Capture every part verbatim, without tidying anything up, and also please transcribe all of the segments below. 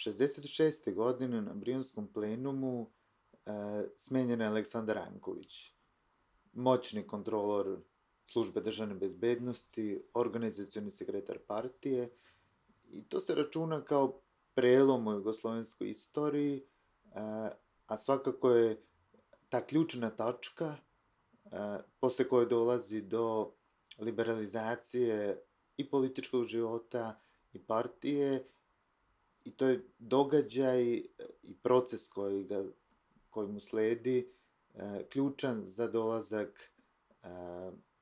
šezdeset šeste. godine na Brionskom plenumu e, smenjen je Aleksandar Ranković, moćni kontrolor službe državne bezbednosti, organizacioni sekretar partije, i to se računa kao prelom u jugoslovenskoj istoriji, e, a svakako je ta ključna tačka e, posle koje dolazi do liberalizacije i političkog života i partije, i to je događaj i proces koji, ga, koji mu sledi e, ključan za dolazak e,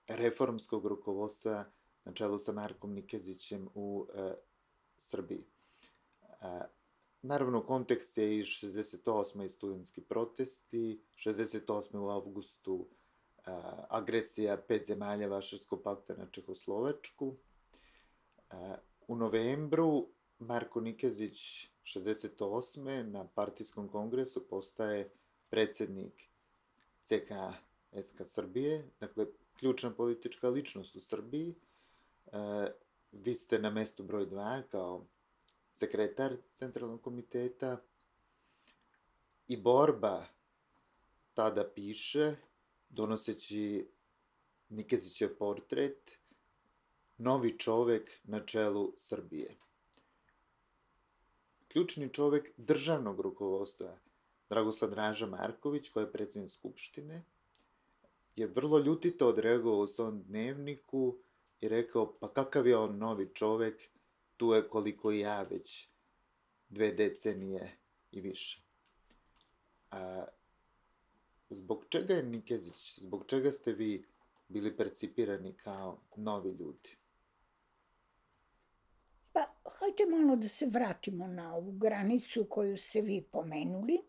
reformskog rukovodstva na čelu sa Markom Nikezićem u e, Srbiji. E, naravno, kontekst je i šezdeset osme i studentski protesti, šezdeset osme u avgustu e, agresija pet zemalja Varšavskog pakta na Čehoslovačku. E, u novembru Marko Nikezić šezdeset osme na partijskom kongresu postaje predsednik C K S K Srbije, dakle, ključna politička ličnost u Srbiji. E, vi ste na mestu broj dva kao sekretar Centralnog komiteta i borba tada piše, donoseći Nikezićev portret, novi čovek na čelu Srbije. Ključni čovek državnog rukovodstva, Dragoslav Draža Marković, koji je predsjednik Skupštine, je vrlo ljutito odreagovao u svom dnevniku i rekao, pa kakav je on novi čovek, tu je koliko i ja već dve decenije i više. A, zbog čega je Nikezić, zbog čega ste vi bili percipirani kao novi ljudi? Pa, hajde malo da se vratimo na ovu granicu koju ste vi pomenuli,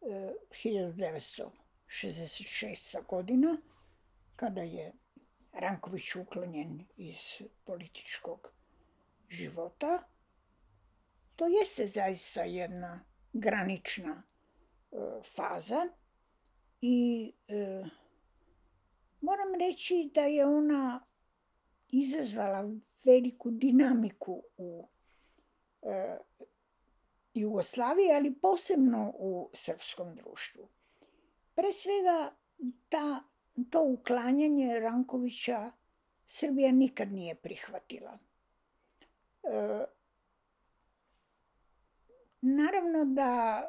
e, hiljadu devetsto šezdeset šesta. godina, kada je Ranković uklonjen iz političkog života. To jeste zaista jedna granična e, faza i e, moram reći da je ona izazvala veliku dinamiku u e, Jugoslaviji, ali posebno u srpskom društvu. Pre svega, ta, to uklanjanje Rankovića Srbija nikad nije prihvatila. E, naravno da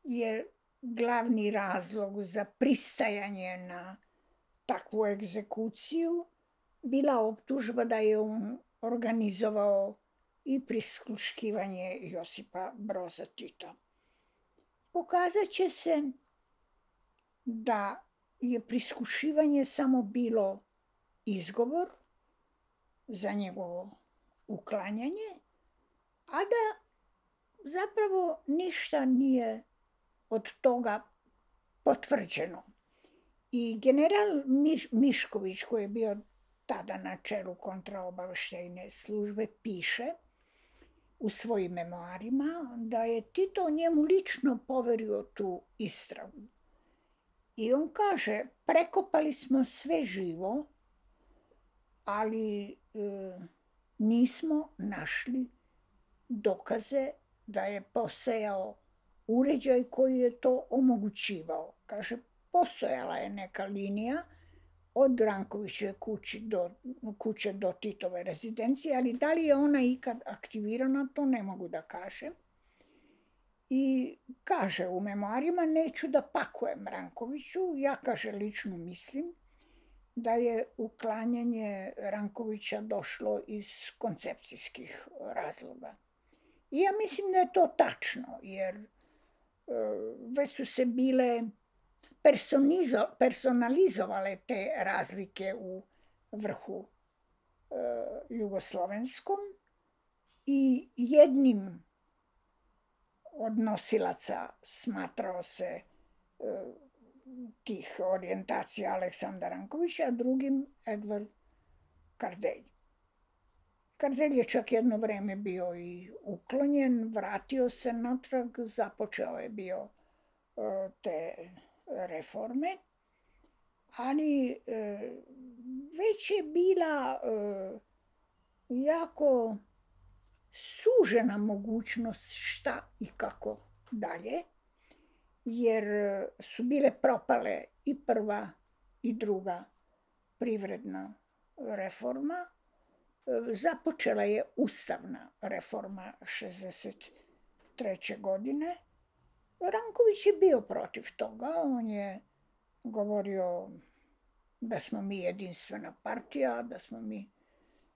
je glavni razlog za pristajanje na takvu egzekuciju bila optužba da je on organizovao i prisluškivanje Josipa Broza Tita. Pokazat će se da je prisluškivanje samo bilo izgovor za njegovo uklanjanje, a da zapravo ništa nije od toga potvrđeno. I general Miš, Mišković, koji je bio tada na čelu kontraobaveštajne službe, piše u svojim memoarima da je Tito njemu lično poverio tu istragu. I on kaže, prekopali smo sve živo, ali e, nismo našli dokaze da je postojao uređaj koji je to omogućivao. Kaže, postojala je neka linija od Rankovićeve kuće do, kuće do Titove rezidencije, ali da li je ona ikad aktivirana, to ne mogu da kažem. I kaže u memoarima, neću da pakujem Rankoviću, ja, kaže, lično mislim da je uklanjanje Rankovića došlo iz koncepcijskih razloga. I ja mislim da je to tačno, jer e, već su se bile personalizovale te razlike u vrhu e, jugoslovenskom i jednim od nosilaca smatrao se e, tih orijentacija Aleksandar Ranković, a drugim Edvard Kardelj. Kardelj je čak jedno vreme bio i uklonjen, vratio se natrag, započeo je bio e, te reforme, ali e, već je bila e, jako sužena mogućnost šta i kako dalje, jer su bile propale i prva i druga privredna reforma. Započela je ustavna reforma šezdeset treće godine. Ranković je bio protiv toga. On je govorio da smo mi jedinstvena partija, da smo mi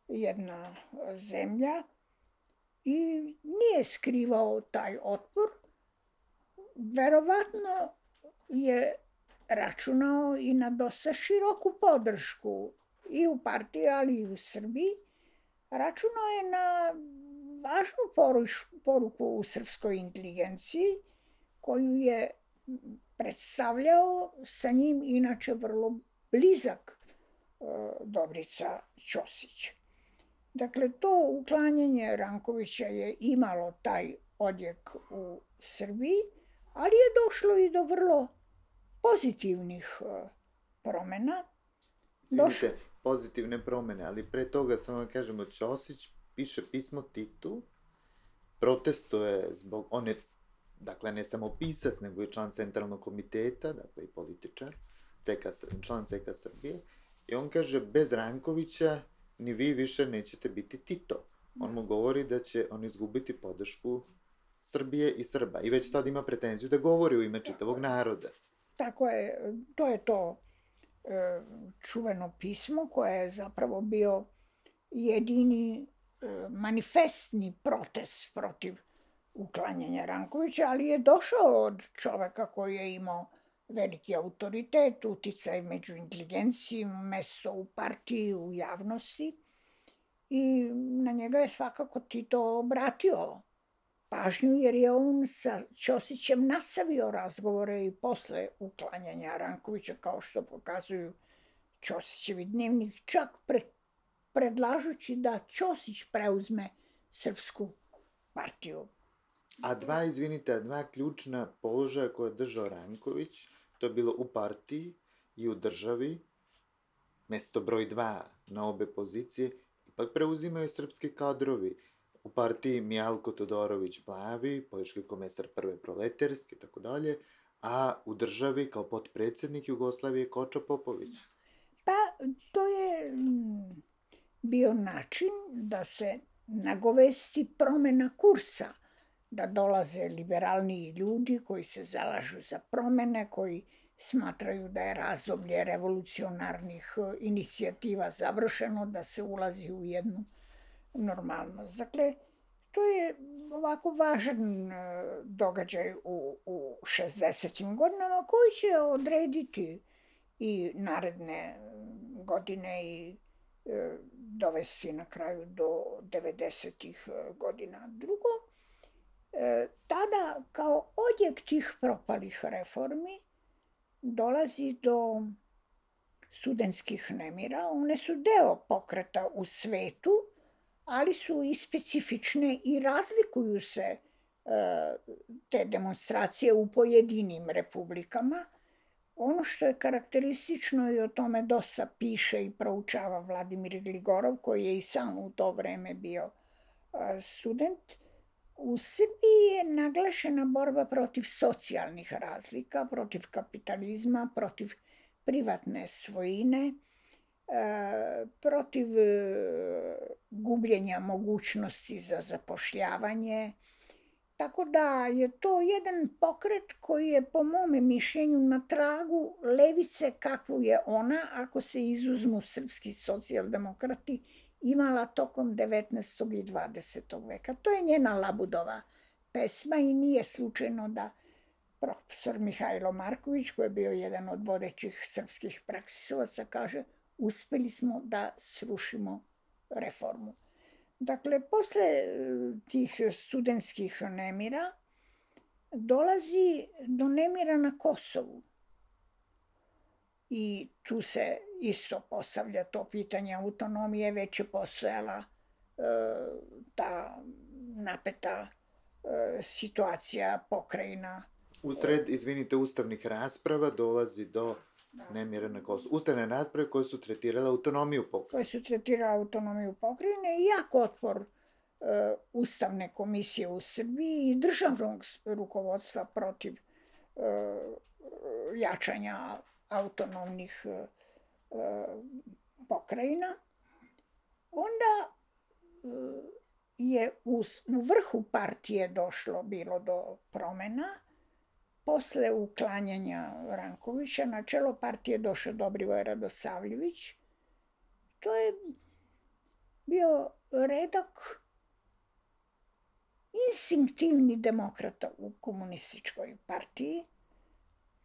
jedna zemlja i nije skrivao taj otpor. Verovatno je računao i na dosta široku podršku i u partiji, ali i u Srbiji. Računao je na važnu poruku u srpskoj inteligenciji koju je predstavljao sa njim inače vrlo blizak Dobrica Ćosić. Dakle, to uklanjanje Rankovića je imalo taj odjek u Srbiji, ali je došlo i do vrlo pozitivnih promena. Izvinite, pozitivne promene, ali pre toga samo vam kažemo, Ćosić piše pismo Titu, protestuje zbog, on je, dakle, ne samo pisac, nego i član centralnog komiteta, dakle i političar, član C K Srbije, i on kaže, bez Rankovića ni vi više nećete biti Tito. On mu govori da će on izgubiti podršku Srbije i Srba i već tad ima pretenziju da govori u ime čitavog naroda. Tako je, to je to e, čuveno pismo koje je zapravo bio jedini e, manifestni protest protiv uklanjanja Rankovića, ali je došao od čoveka koji je imao veliki autoritet, uticaj među inteligencijom, mesto u partiji, u javnosti i na njega je svakako Tito obratio pažnju jer je on sa Ćosićem nastavio razgovore i posle uklanjanja Rankovića, kao što pokazuju Ćosićevi dnevnik, čak pred, predlažući da Ćosić preuzme Srpsku partiju. A dva, izvinite, dva ključna položaja koje je držao Ranković, to je bilo u partiji i u državi, mesto broj dva na obe pozicije, ipak preuzimaju srpski kadrovi. U partiji Mijalko Todorović Plavi, politički komesar prve proletarske i tako dalje, a u državi kao potpredsjednik Jugoslavije Kočo Popović. Pa to je bio način da se nagovesti promena kursa, da dolaze liberalniji ljudi koji se zalažu za promene, koji smatraju da je razdoblje revolucionarnih inicijativa završeno, da se ulazi u jednu normalnost. Dakle, to je ovako važan događaj u, u šezdesetim godinama koji će odrediti i naredne godine i e, dovesti na kraju do devedesetih godina. Drugo, e, tada kao odjek tih propalih reformi dolazi do studentskih nemira. One su deo pokreta u svetu, ali su i specifične i razlikuju se e, te demonstracije u pojedinim republikama. Ono što je karakteristično i o tome dosta piše i proučava Vladimir Gligorov, koji je i sam u to vreme bio e, student, u Srbiji je naglašena borba protiv socijalnih razlika, protiv kapitalizma, protiv privatne svojine, protiv gubljenja mogućnosti za zapošljavanje. Tako da je to jedan pokret koji je po mome mišljenju na tragu levice kakvu je ona, ako se izuzmu srpski socijaldemokrati, imala tokom devetnaestog i dvadesetog veka. To je njena Labudova pesma i nije slučajno da profesor Mihajlo Marković, koji je bio jedan od vodećih srpskih praksisovaca, kaže: uspeli smo da srušimo reformu. Dakle, posle tih studentskih nemira dolazi do nemira na Kosovu. I tu se isto postavlja to pitanje autonomije, već je postojala e, ta napeta e, situacija pokrajina. Usred, izvinite, ustavnih rasprava dolazi do nemira na Kosovu. Ustavne rasprave koje su tretirale autonomiju pokrajine. Koje su tretirale autonomiju pokrajine i jak otpor Ustavne komisije u Srbiji i državnog rukovodstva protiv jačanja autonomnih pokrajina, onda je u vrhu partije došlo bilo do promena. Posle uklanjanja Rankovića na čelo partije došao Dobrivoje Radosavljević. To je bio redak instinktivni demokrata u komunističkoj partiji,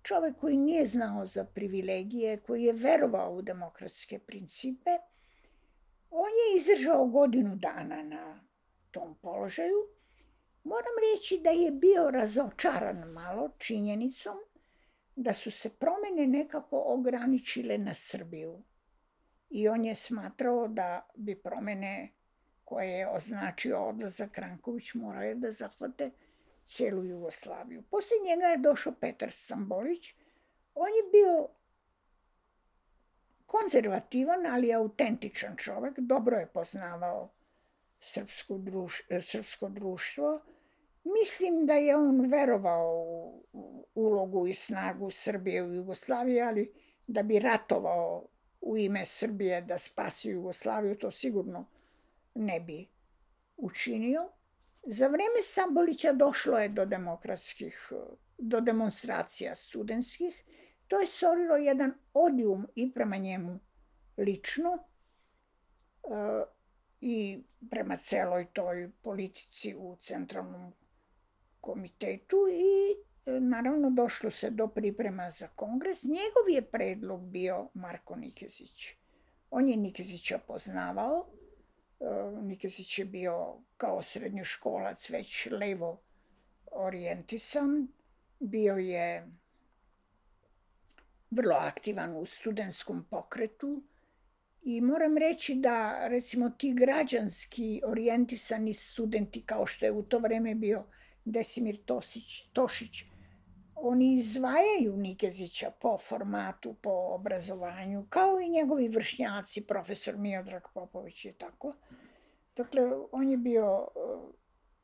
čovek koji nije znao za privilegije, koji je verovao u demokratske principe. On je izdržao godinu dana na tom položaju. Moram reći da je bio razočaran malo činjenicom da su se promene nekako ograničile na Srbiju. I on je smatrao da bi promene koje je označio odlazak Ranković morale da zahvate celu Jugoslaviju. Posle njega je došao Petar Stambolić. On je bio konzervativan, ali autentičan čovek. Dobro je poznavao srpsko društvo. Mislim da je on verovao u ulogu i snagu Srbije u Jugoslaviji, ali da bi ratovao u ime Srbije da spasi Jugoslaviju, to sigurno ne bi učinio. Za vreme Stambolića došlo je do demokratskih, do demonstracija studentskih. To je stvorilo jedan odijum i prema njemu lično i prema celoj toj politici u Centralnom komitetu i naravno došlo se do priprema za kongres. Njegov je predlog bio Marko Nikezić. On je Nikezića poznavao. Nikezić je bio kao srednjoškolac već levo orijentisan. Bio je vrlo aktivan u studentskom pokretu i moram reći da recimo ti građanski orijentisani studenti kao što je u to vreme bio Desimir Tošić, oni izdvajaju Nikezića po formatu, po obrazovanju, kao i njegovi vršnjaci, profesor Miodrag Popović i tako. Dakle, on je bio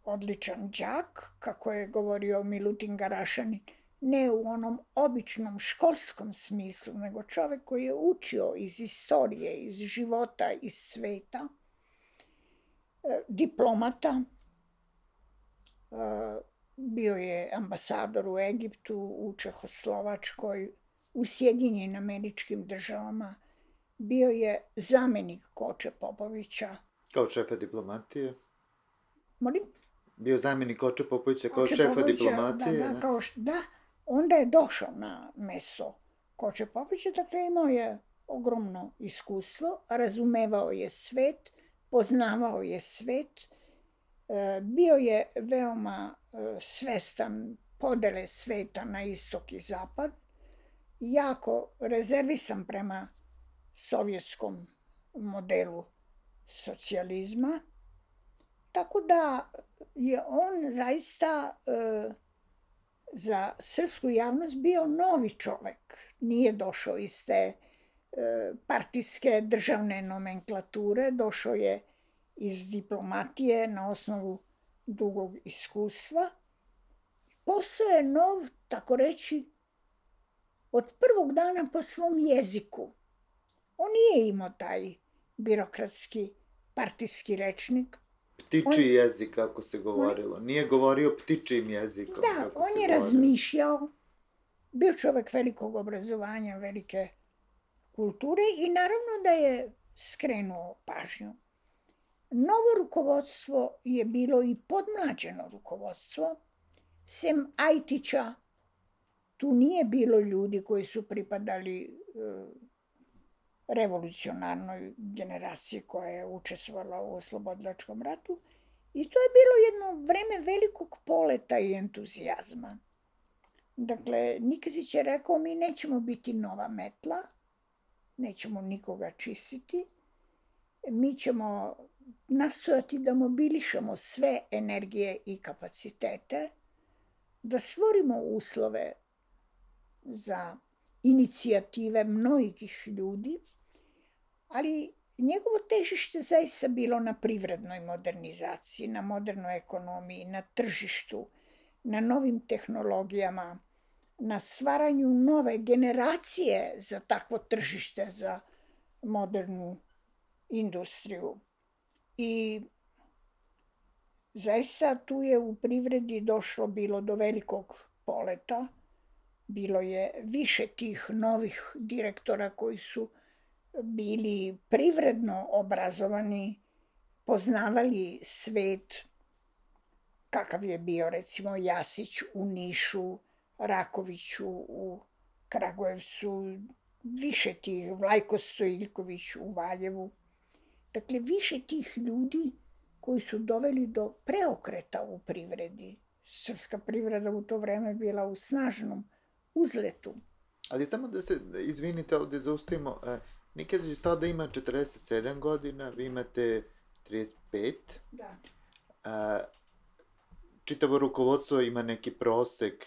odličan đak, kako je govorio Milutin Garašanin, ne u onom običnom školskom smislu, nego čovek koji je učio iz istorije, iz života, iz sveta, diplomata. Bio je ambasador u Egiptu, u Čehoslovačkoj, u Sjedinjenim Američkim Državama. Bio je zamenik Koče Popovića. Kao šefa diplomatije? Molim? Bio zamenik Koče Popovića kao šefa diplomatije? Da, da, kao što, da. Onda je došao na mesto Koče Popovića, dakle imao je ogromno iskustvo, razumevao je svet, poznavao je svet, bio je veoma svestan podele sveta na istok i zapad, jako rezervisan prema sovjetskom modelu socijalizma, tako da je on zaista za srpsku javnost bio novi čovek. Nije došao iz te partijske državne nomenklature, došao je iz diplomatije na osnovu dugog iskustva. Posao je nov, tako reći, od prvog dana po svom jeziku. On nije imao taj birokratski partijski rečnik. Ptičiji jezik, kako se govorilo. Nije govorio ptičijim jezikom. Da, on je razmišljao. Bio čovek velikog obrazovanja, velike kulture i naravno da je skrenuo pažnju. Novo rukovodstvo je bilo i podmlađeno rukovodstvo. Sem Ajtića, tu nije bilo ljudi koji su pripadali revolucionarnoj generaciji koja je učestvovala u oslobodilačkom ratu. I to je bilo jedno vreme velikog poleta i entuzijazma. Dakle, Nikezić je rekao, mi nećemo biti nova metla, nećemo nikoga čistiti, mi ćemo nastojati da mobilišemo sve energije i kapacitete, da stvorimo uslove za inicijative mnogih ljudi, ali njegovo težište zaista bilo na privrednoj modernizaciji, na modernoj ekonomiji, na tržištu, na novim tehnologijama, na stvaranju nove generacije za takvo tržište, za modernu industriju. I zaista tu je u privredi došlo bilo do velikog poleta. Bilo je više tih novih direktora koji su bili privredno obrazovani, poznavali svet, kakav je bio recimo Jasić u Nišu, Raković u Kragujevcu, više tih, Vlajko Stojiljković u Valjevu. Dakle, više tih ljudi koji su doveli do preokreta u privredi. Srpska privreda u to vreme bila u snažnom uzletu. Ali samo da se, izvinite, ovde zaustavimo, Nikezić tada ima četrdeset sedam godina, vi imate trideset pet. Da. Čitavo rukovodstvo ima neki prosek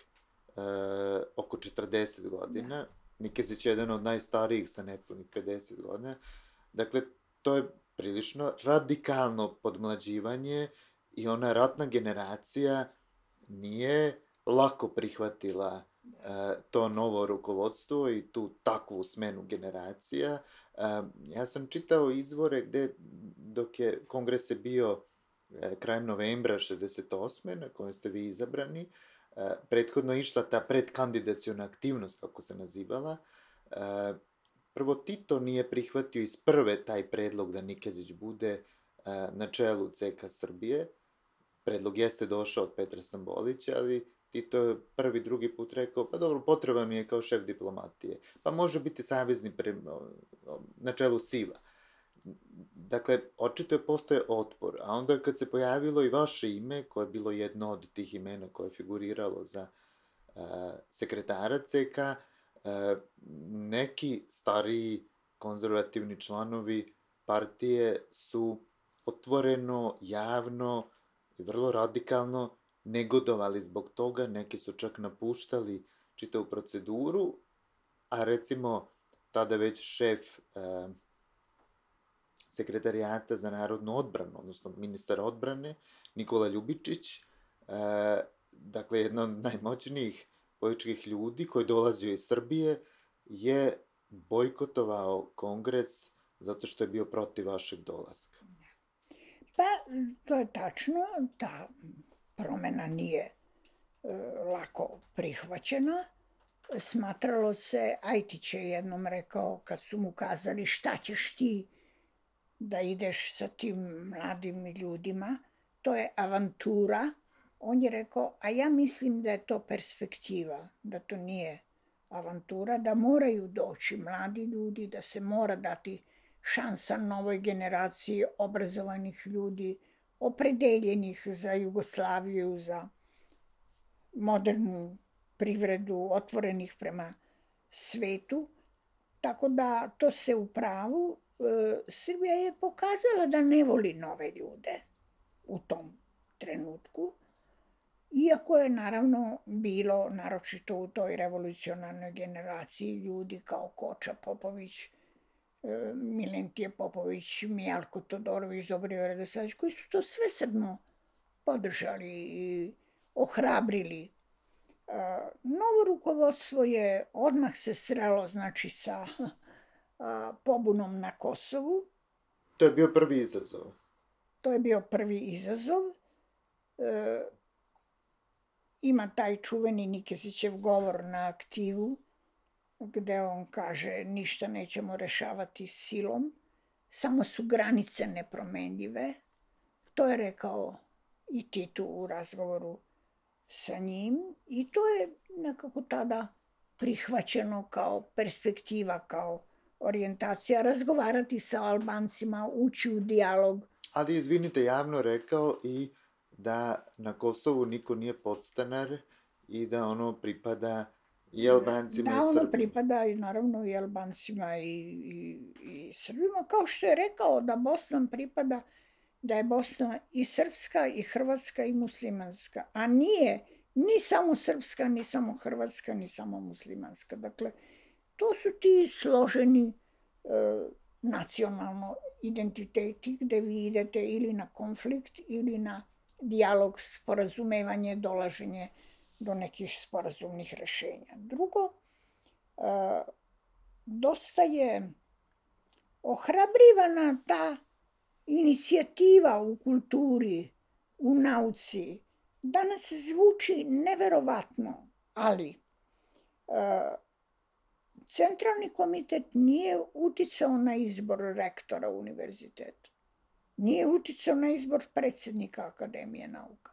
oko četrdeset godina. Da. Nikezić je jedan od najstarijih sa nepunih pedeset godina. Dakle, to je prilično radikalno podmlađivanje i ona ratna generacija nije lako prihvatila to novo rukovodstvo i tu takvu smenu generacija. Ja sam čitao izvore gde, dok je kongres je bio krajem novembra šezdeset osme na kojem ste vi izabrani, prethodno išla ta predkandidaciona aktivnost, kako se nazivala. Prvo, Tito nije prihvatio iz prve taj predlog da Nikezić bude na čelu ce ka Srbije. Predlog jeste došao od Petra Stambolića, ali Tito je prvi, drugi put rekao, pa dobro, potreban mi je kao šef diplomatije. Pa može biti savezni pre, na čelu SIV-a. Dakle, očito je postoje otpor. A onda kad se pojavilo i vaše ime, koje je bilo jedno od tih imena koje je figuriralo za uh, sekretara ce ka, uh, neki stariji konzervativni članovi partije su otvoreno, javno i vrlo radikalno negodovali zbog toga, neki su čak napuštali čitavu proceduru, a recimo tada već šef uh, sekretarijata za narodnu odbranu, odnosno ministar odbrane, Nikola Ljubičić, uh, dakle jedna od najmoćnijih političkih ljudi koji dolazio iz Srbije, je bojkotovao kongres zato što je bio protiv vašeg dolaska. Pa, to je tačno, ta promena nije e, lako prihvaćena. Smatralo se, Ajtić je jednom rekao, kad su mu kazali šta ćeš ti da ideš sa tim mladim ljudima, to je avantura. On je rekao, a ja mislim da je to perspektiva, da to nije avantura, da moraju doći mladi ljudi, da se mora dati šansa novoj generaciji obrazovanih ljudi, opredeljenih za Jugoslaviju, za modernu privredu, otvorenih prema svetu. Tako da to se u pravu. Srbija je pokazala da ne voli nove ljude u tom trenutku, iako je naravno bilo, naročito u toj revolucionarnoj generaciji, ljudi kao Koča Popović, Milentije Popović, Mijalko Todorović, Dobrivoje Radosavljević, koji su to svesrdno podržali i ohrabrili. Novo rukovodstvo je odmah se srelo, znači, sa pobunom na Kosovu. To je bio prvi izazov. To je bio prvi izazov. E, ima taj čuveni Nikezićev govor na aktivu, gde on kaže ništa nećemo rešavati silom, samo su granice nepromenljive. To je rekao i Tito u razgovoru sa njim i to je nekako tada prihvaćeno kao perspektiva, kao orijentacija, razgovarati sa Albancima, ući u dijalog. Ali, izvinite, javno rekao i da na Kosovu niko nije podstanar i da ono pripada i Albancima da, i Srbima. Da, ono pripada i naravno i Albancima i, i, i Srbima, kao što je rekao da Bosna pripada, da je Bosna i srpska i hrvatska i muslimanska, a nije ni samo srpska, ni samo hrvatska, ni samo muslimanska. Dakle, to su ti složeni e, nacionalno identiteti gde vi idete ili na konflikt ili na dijalog, sporazumevanje, dolaženje do nekih sporazumnih rešenja. Drugo, dosta je ohrabrivana ta inicijativa u kulturi, u nauci. Danas zvuči neverovatno, ali Centralni komitet nije uticao na izbor rektora univerziteta. Nije uticao na izbor predsednika Akademije nauka.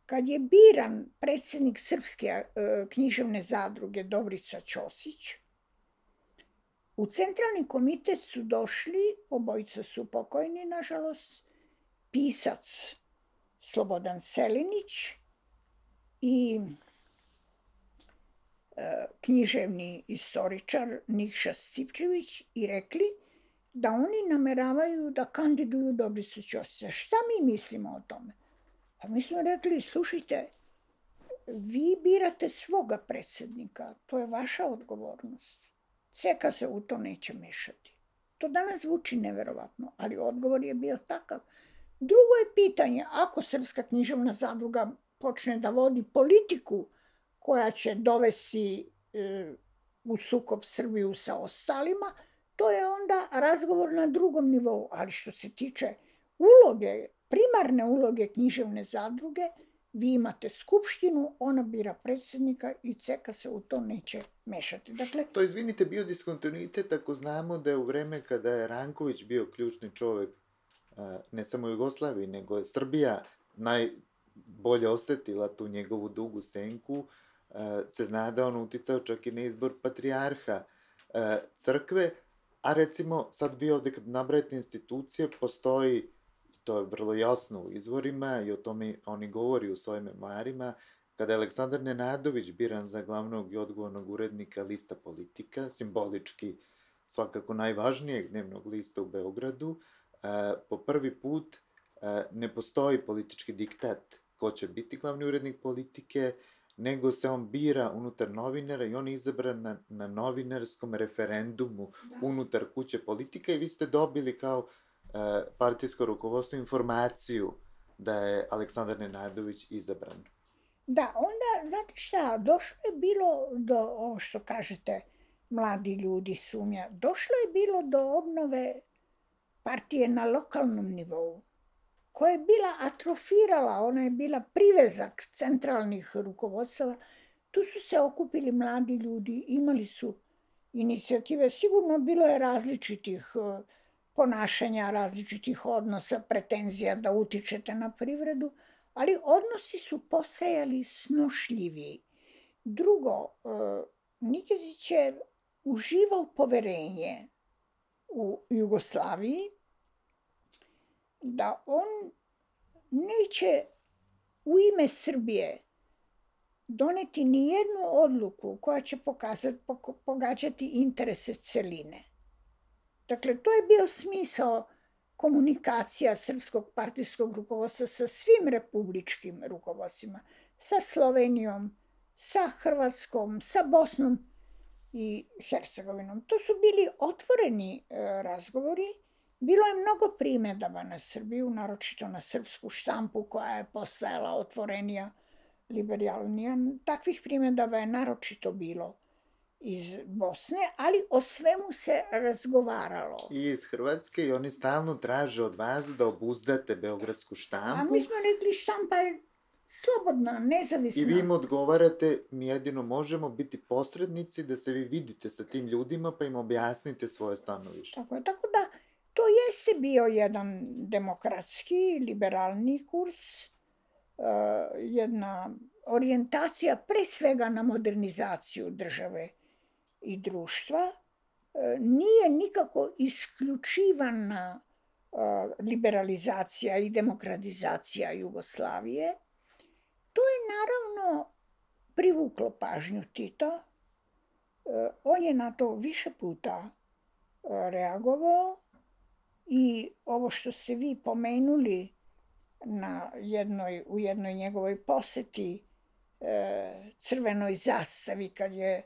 Kad je biran predsednik Srpske književne zadruge Dobrica Ćosić, u Centralni komitet su došli, obojica su pokojni, nažalost, pisac Slobodan Selinić i književni istoričar Nikša Stipčević i rekli da oni nameravaju da kandiduju Dobricu Ćosića. Šta mi mislimo o tome? Pa mi smo rekli, slušajte, vi birate svoga predsednika, to je vaša odgovornost. Ceka se u to neće mešati. To danas zvuči neverovatno, ali odgovor je bio takav. Drugo je pitanje, ako Srpska književna zadruga počne da vodi politiku koja će dovesti u sukob Srbiju sa ostalima, to je onda razgovor na drugom nivou. Ali što se tiče uloge, primarne uloge književne zadruge, vi imate skupštinu, ona bira predsednika i Ceka se u to neće mešati. Dakle, to, izvinite, bio diskontinuitet ako znamo da je u vreme kada je Ranković bio ključni čovek ne samo Jugoslaviji, nego je Srbija najbolje osetila tu njegovu dugu senku, se zna da on uticao čak i na izbor patrijarha crkve, a recimo sad vi ovde kad nabrajate institucije, postoji, to je vrlo jasno u izvorima i o tome oni govori u svojim memoarima, kada je Aleksandar Nenadović biran za glavnog i odgovornog urednika lista Politika, simbolički svakako najvažnijeg dnevnog lista u Beogradu, po prvi put ne postoji politički diktat ko će biti glavni urednik Politike, nego se on bira unutar novinara i on je izabran na, na novinarskom referendumu da. Unutar kuće Politika i vi ste dobili kao e, partijsko rukovodstvo informaciju da je Aleksandar Nenadović izabran. Da, onda, znate šta, došlo je bilo do, ovo što kažete, mladi ljudi sumnja, došlo je bilo do obnove partije na lokalnom nivou, koja je bila atrofirala, ona je bila privezak centralnih rukovodstava. Tu su se okupili mladi ljudi, imali su inicijative. Sigurno bilo je različitih ponašanja, različitih odnosa, pretenzija da utičete na privredu, ali odnosi su postajali snošljiviji. Drugo, Nikezić je uživao poverenje u Jugoslaviji, da on neće u ime Srbije doneti ni jednu odluku koja će pokazati, pogađati interese celine. Dakle, to je bio smisao komunikacija srpskog partijskog rukovodstva sa svim republičkim rukovodstvima, sa Slovenijom, sa Hrvatskom, sa Bosnom i Hercegovinom. To su bili otvoreni razgovori. Bilo je mnogo primedaba na Srbiju, naročito na srpsku štampu koja je postajala otvorenija, liberalnija. Takvih primedaba je naročito bilo iz Bosne, ali o svemu se razgovaralo. I iz Hrvatske i oni stalno traže od vas da obuzdate beogradsku štampu. A mi smo rekli štampa je slobodna, nezavisna. I vi im odgovarate, mi jedino možemo biti posrednici da se vi vidite sa tim ljudima pa im objasnite svoje stanovište. Tako je, tako da to jeste bio jedan demokratski, liberalni kurs, jedna orijentacija pre svega na modernizaciju države i društva. Nije nikako isključivana liberalizacija i demokratizacija Jugoslavije. To je naravno privuklo pažnju Tita. On je na to više puta reagovao i ovo što ste vi pomenuli na jednoj, u jednoj njegovoj poseti crvenoj zastavi kad je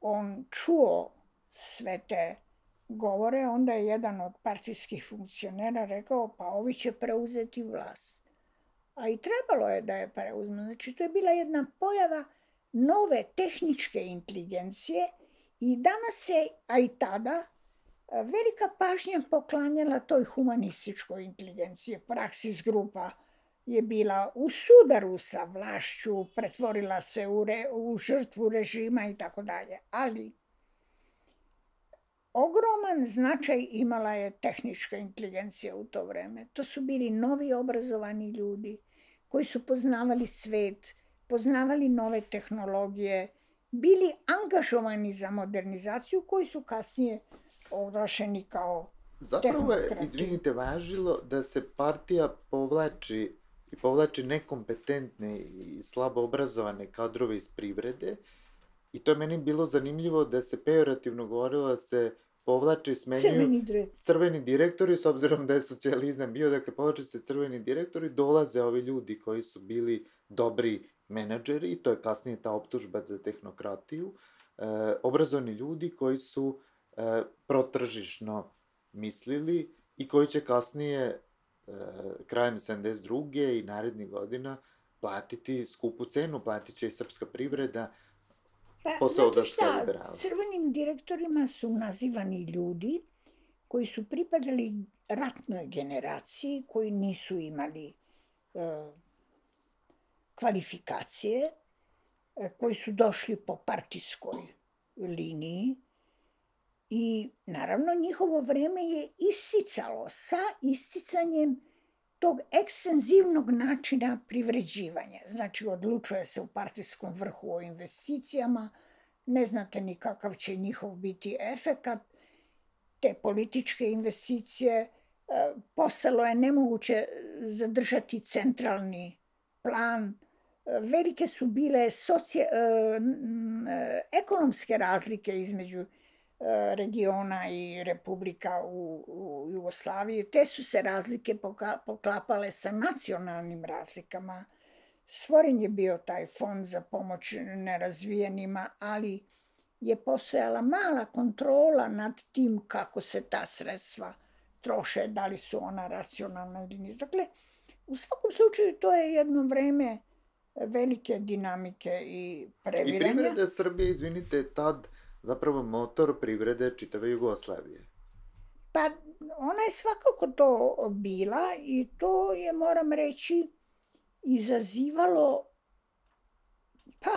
on čuo sve te govore, onda je jedan od partijskih funkcionera rekao, pa ovi će preuzeti vlast. A i trebalo je da je preuzme. Znači, to je bila jedna pojava nove tehničke inteligencije i danas se, a i tada, velika pažnja poklanjala toj humanističkoj inteligenciji. Praksis grupa je bila u sudaru sa vlašću, pretvorila se u, re, u žrtvu režima i tako dalje. Ali ogroman značaj imala je tehnička inteligencija u to vreme. To su bili novi obrazovani ljudi koji su poznavali svet, poznavali nove tehnologije, bili angažovani za modernizaciju, koji su kasnije oglašeni kao Zapravo je, izvinite, važilo da se partija povlači i povlači nekompetentne i slabo obrazovane kadrove iz privrede i to je meni bilo zanimljivo da se pejorativno govorilo da se povlače i smenjuju crveni direktori. crveni direktori, s obzirom da je socijalizam bio, dakle povlače se crveni direktori, dolaze ovi ljudi koji su bili dobri menadžeri i to je kasnije ta optužba za tehnokratiju, e, obrazovani ljudi koji su e, protržišno mislili i koji će kasnije e, krajem sedamdeset druge i narednih godina platiti skupu cenu, platit će i srpska privreda, Pa, posao da znate sve šta, liberalno. crvenim direktorima su nazivani ljudi koji su pripadali ratnoj generaciji, koji nisu imali e, kvalifikacije, e, koji su došli po partijskoj liniji i naravno njihovo vreme je isticalo sa isticanjem tog ekstenzivnog načina privređivanja. Znači, odlučuje se u partijskom vrhu o investicijama, ne znate ni kakav će njihov biti efekat, te političke investicije, postalo je nemoguće zadržati centralni plan, velike su bile socije, ekonomske razlike između regiona i republika u, u Jugoslaviji. Te su se razlike poklapale sa nacionalnim razlikama. Stvoren je bio taj fond za pomoć nerazvijenima, ali je postojala mala kontrola nad tim kako se ta sredstva troše, da li su ona racionalna ili nije. Dakle, u svakom slučaju to je jedno vreme velike dinamike i previranja. I privreda Srbije, izvinite, tad zapravo motor privrede čitave Jugoslavije. Pa ona je svakako to bila i to je, moram reći, izazivalo, pa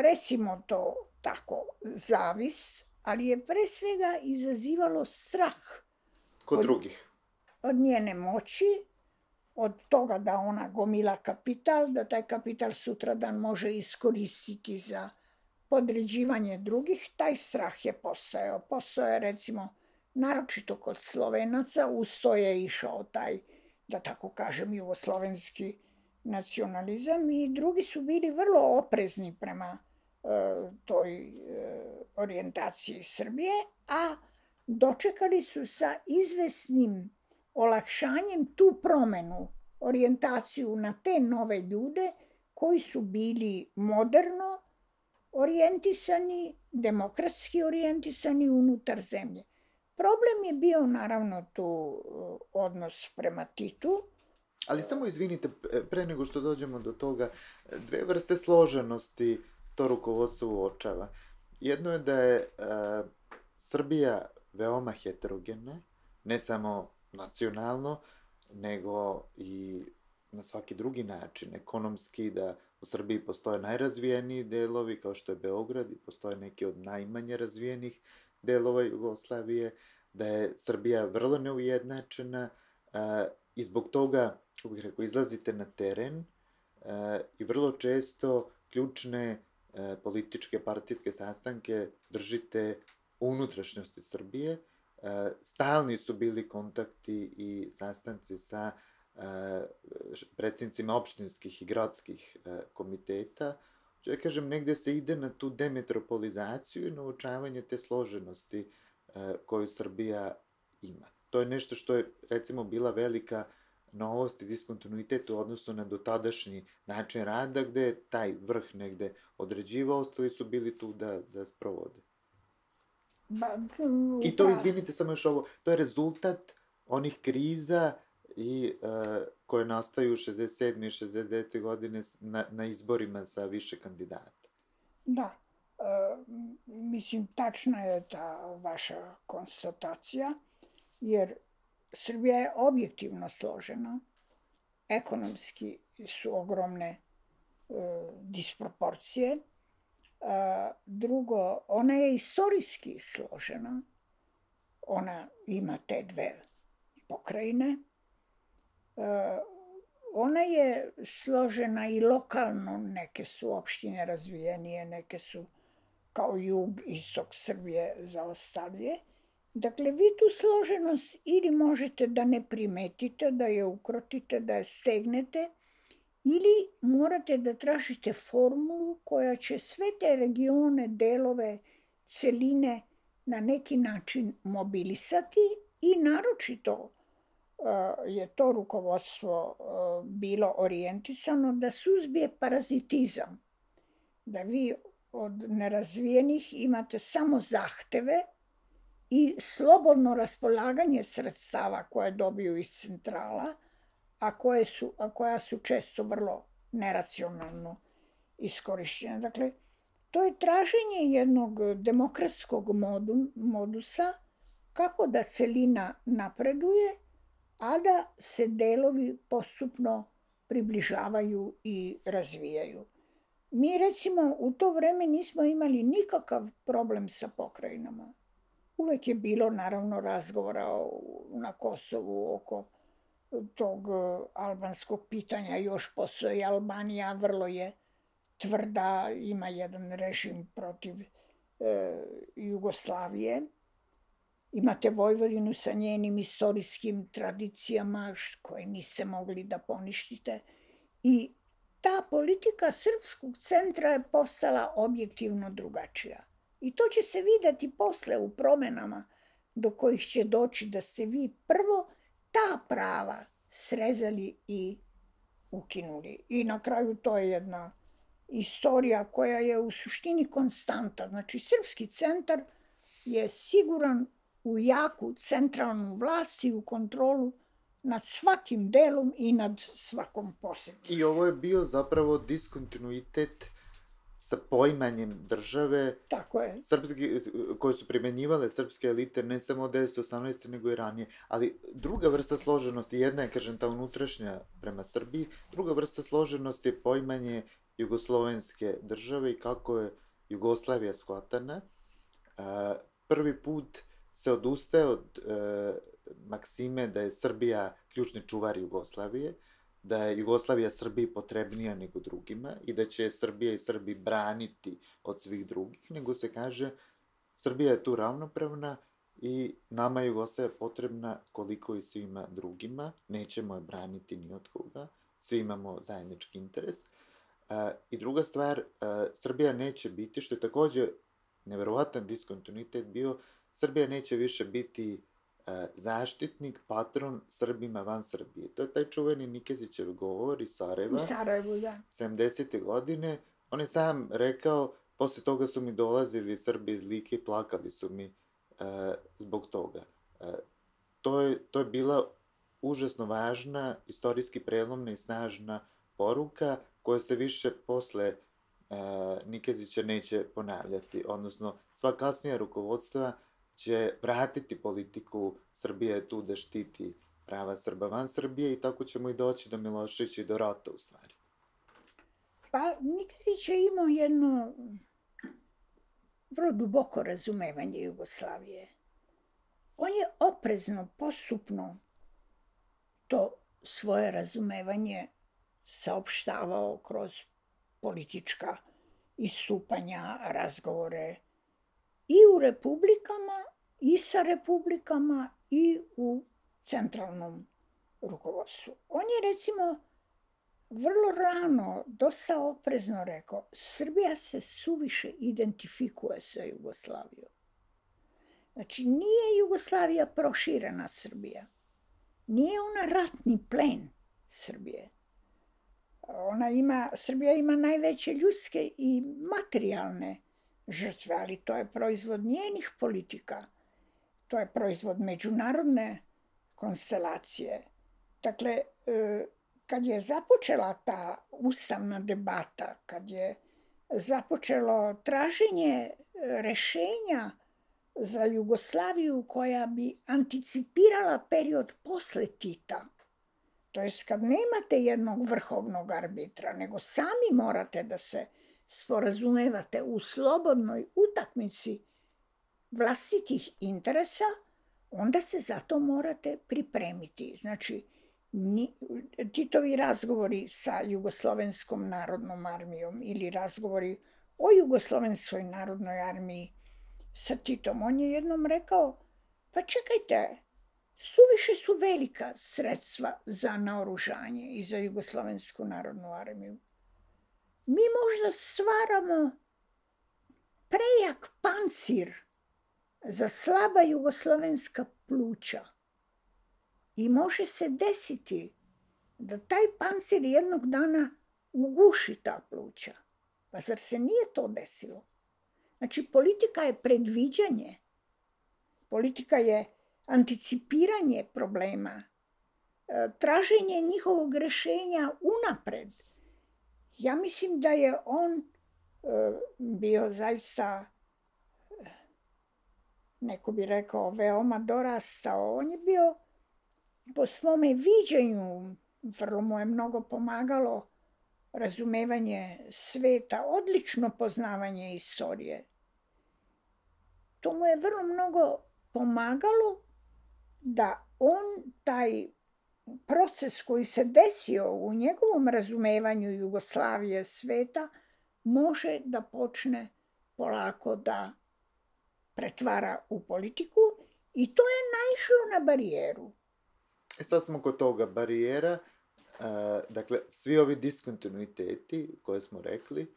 recimo to tako, zavist, ali je pre svega izazivalo strah. Kod drugih. Od njene moći, od toga da ona gomila kapital, da taj kapital sutradan može iskoristiti za podređivanje drugih, taj strah je postojao. Postojao je, recimo, naročito kod Slovenaca, uz to je išao taj, da tako kažem, jugoslovenski nacionalizam i drugi su bili vrlo oprezni prema e, toj e, orijentaciji Srbije, a dočekali su sa izvesnim olakšanjem tu promenu, orijentaciju na te nove ljude koji su bili moderno orijentisani, demokratski orijentisani unutar zemlje. Problem je bio naravno tu odnos prema Titu. Ali samo izvinite, pre nego što dođemo do toga, dve vrste složenosti to rukovodstvo uočava. Jedno je da je uh, Srbija veoma heterogena, ne samo nacionalno, nego i na svaki drugi način, ekonomski, da u Srbiji postoje najrazvijeniji delovi, kao što je Beograd, i postoje neki od najmanje razvijenih delova Jugoslavije, da je Srbija vrlo neujednačena uh, i zbog toga, kako bih rekao, izlazite na teren uh, i vrlo često ključne uh, političke partijske sastanke držite u unutrašnjosti Srbije. Uh, stalni su bili kontakti i sastanci sa uh, predsjednicima opštinskih i gradskih uh, komiteta. Ću da kažem, negde se ide na tu demetropolizaciju i na uočavanje te složenosti uh, koju Srbija ima. To je nešto što je, recimo, bila velika novost i diskontinuitet u odnosu na dotadašnji način rada, gde je taj vrh negde određivao, ostali su bili tu da, da sprovode. Ba, I to, izvinite, samo još ovo, to je rezultat onih kriza i uh, koje nastaju šezdeset sedme i šezdeset devete godine na, na izborima sa više kandidata. Da. E, mislim, tačna je ta vaša konstatacija, jer Srbija je objektivno složena, ekonomski su ogromne e, disproporcije. E, drugo, ona je istorijski složena, ona ima te dve pokrajine. E, ona je složena i lokalno, neke su opštine razvijenije, neke su kao jug, istok Srbije zaostalije. Dakle, vi tu složenost ili možete da ne primetite, da je ukrotite, da je stegnete, ili morate da tražite formulu koja će sve te regione, delove, celine na neki način mobilisati i naročito je to rukovodstvo bilo orijentisano da suzbije parazitizam. Da vi od nerazvijenih imate samo zahteve i slobodno raspolaganje sredstava koje dobiju iz centrala, a, koje su, a koja su često vrlo neracionalno iskorišćene. Dakle, to je traženje jednog demokratskog modu, modusa kako da celina napreduje, a da se delovi postupno približavaju i razvijaju. Mi, recimo, u to vreme nismo imali nikakav problem sa pokrajinama. Uvek je bilo, naravno, razgovora na Kosovu oko tog albanskog pitanja. Još postoji Albanija, vrlo je tvrda, ima jedan režim protiv e, Jugoslavije. Imate Vojvodinu sa njenim istorijskim tradicijama koje niste mogli da poništite. I ta politika srpskog centra je postala objektivno drugačija. I to će se videti posle u promenama do kojih će doći da ste vi prvo ta prava srezali i ukinuli. I na kraju to je jedna istorija koja je u suštini konstanta. Znači, srpski centar je siguran u jaku centralnu vlast i u kontrolu nad svakim delom i nad svakom posebno. I ovo je bio zapravo diskontinuitet sa poimanjem države. Tako je. Srpski, koje su primenjivale srpske elite ne samo od devetsto osamnaeste nego i ranije. Ali druga vrsta složenosti, jedna je, kažem, ta unutrašnja prema Srbiji, druga vrsta složenosti je poimanje jugoslovenske države i kako je Jugoslavija shvatana. Prvi put se odustaje od e, maksime da je Srbija ključni čuvar Jugoslavije, da je Jugoslavija Srbiji potrebnija nego drugima i da će Srbija i Srbi braniti od svih drugih, nego se kaže Srbija je tu ravnopravna i nama je Jugoslavija potrebna koliko i svima drugima, nećemo je braniti ni od koga, svi imamo zajednički interes. E, I druga stvar, e, Srbija neće biti, što je takođe neverovatan diskontinuitet bio, Srbija neće više biti uh, zaštitnik, patron Srbima van Srbije. To je taj čuveni Nikezićev govor iz Sarajeva. U Sarajevu, da. sedamdesete godine. On je sam rekao, posle toga su mi dolazili Srbi iz Like i plakali su mi uh, zbog toga. Uh, to, je, to je bila užasno važna, istorijski prelomna i snažna poruka koja se više posle uh, Nikezića neće ponavljati. Odnosno, sva kasnija rukovodstva će vratiti politiku Srbije tu da štiti prava Srba van Srbije i tako ćemo i doći do Miloševića i do rata, u stvari. Pa Nikezić je imao jedno vrlo duboko razumevanje Jugoslavije. On je oprezno, postupno to svoje razumevanje saopštavao kroz politička istupanja, razgovore i u republikama, i sa republikama, i u centralnom rukovodstvu. On je, recimo, vrlo rano, dosta oprezno rekao, Srbija se suviše identifikuje sa Jugoslavijom. Znači, nije Jugoslavija proširena Srbija. Nije ona ratni plen Srbije. Ona ima, Srbija ima najveće ljudske i materijalne žrtve, ali to je proizvod njenih politika. To je proizvod međunarodne konstelacije. Dakle, kad je započela ta ustavna debata, kad je započelo traženje rešenja za Jugoslaviju koja bi anticipirala period posle Tita, to jest kad nemate jednog vrhovnog arbitra, nego sami morate da se sporazumevate u slobodnoj utakmici vlastitih interesa, onda se za to morate pripremiti. Znači, Titovi razgovori sa Jugoslovenskom narodnom armijom ili razgovori o Jugoslovenskoj narodnoj armiji sa Titom, on je jednom rekao, pa čekajte, suviše su velika sredstva za naoružanje i za Jugoslovensku narodnu armiju. Mi možda stvaramo prejak pancir za slaba jugoslovenska pluća i može se desiti da taj pancir jednog dana uguši ta pluća. Pa zar se nije to desilo? Znači, politika je predviđanje, politika je anticipiranje problema, traženje njihovog rešenja unapred. Ja mislim da je on bio zaista, neko bi rekao, veoma dorastao. On je bio po svome viđenju, vrlo mu je mnogo pomagalo razumevanje sveta, odlično poznavanje istorije. To mu je vrlo mnogo pomagalo da on taj proces koji se desio u njegovom razumevanju Jugoslavije, sveta, može da počne polako da pretvara u politiku i to je naišlo na barijeru. E sad smo kod toga barijera, dakle, svi ovi diskontinuiteti koje smo rekli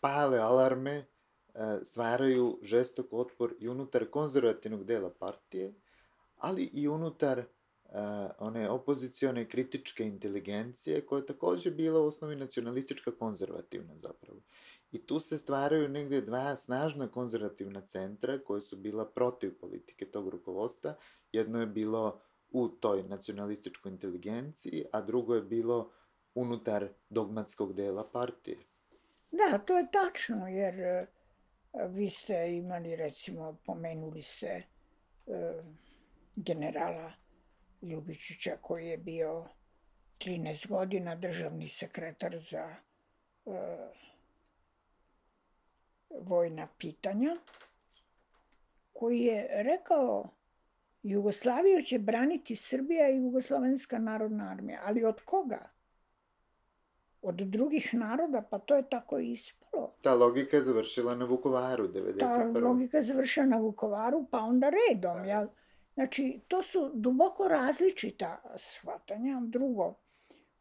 pale alarme, stvaraju žestok otpor i unutar konzervativnog dela partije, ali i unutar one opozicione kritičke inteligencije koja je takođe bila u osnovi nacionalistička konzervativna zapravo. I tu se stvaraju negde dva snažna konzervativna centra koja su bila protiv politike tog rukovodstva. Jedno je bilo u toj nacionalističkoj inteligenciji, a drugo je bilo unutar dogmatskog dela partije. Da, to je tačno, jer vi ste imali, recimo, pomenuli ste generala Ljubičića koji je bio trinaest godina državni sekretar za vojna pitanja, koji je rekao Jugoslaviju će braniti Srbija i Jugoslovenska narodna armija. Ali od koga? Od drugih naroda? Pa to je tako ispalo. Ta logika je završila na Vukovaru, devedeset prve. Ta logika je završila na Vukovaru, pa onda redom. Ja, znači, to su duboko različita shvatanja. Drugo,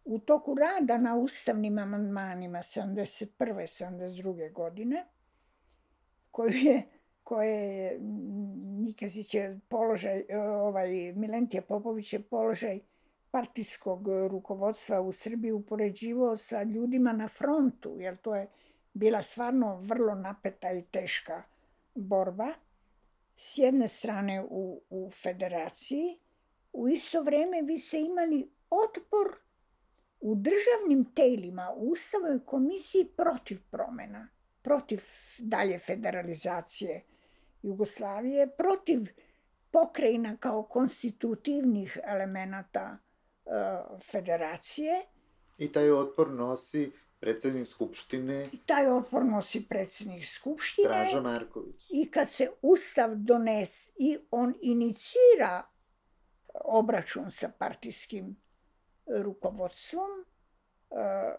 u toku rada na ustavnim amandmanima sedamdeset prve sedamdeset druge godine, koju je koje je Nikezić je položaj, ovaj, Milentije Popović je položaj partijskog rukovodstva u Srbiji upoređivao sa ljudima na frontu, jer to je bila stvarno vrlo napeta i teška borba. S jedne strane u, u federaciji, u isto vreme vi ste imali otpor u državnim telima, u Ustavnoj komisiji protiv promena, protiv dalje federalizacije Jugoslavije, protiv pokrajina kao konstitutivnih elemenata uh, federacije. I taj otpor nosi predsednik Skupštine. I taj otpor nosi predsednik Skupštine. Draža Marković. I kad se Ustav donese i on inicira obračun sa partijskim rukovodstvom,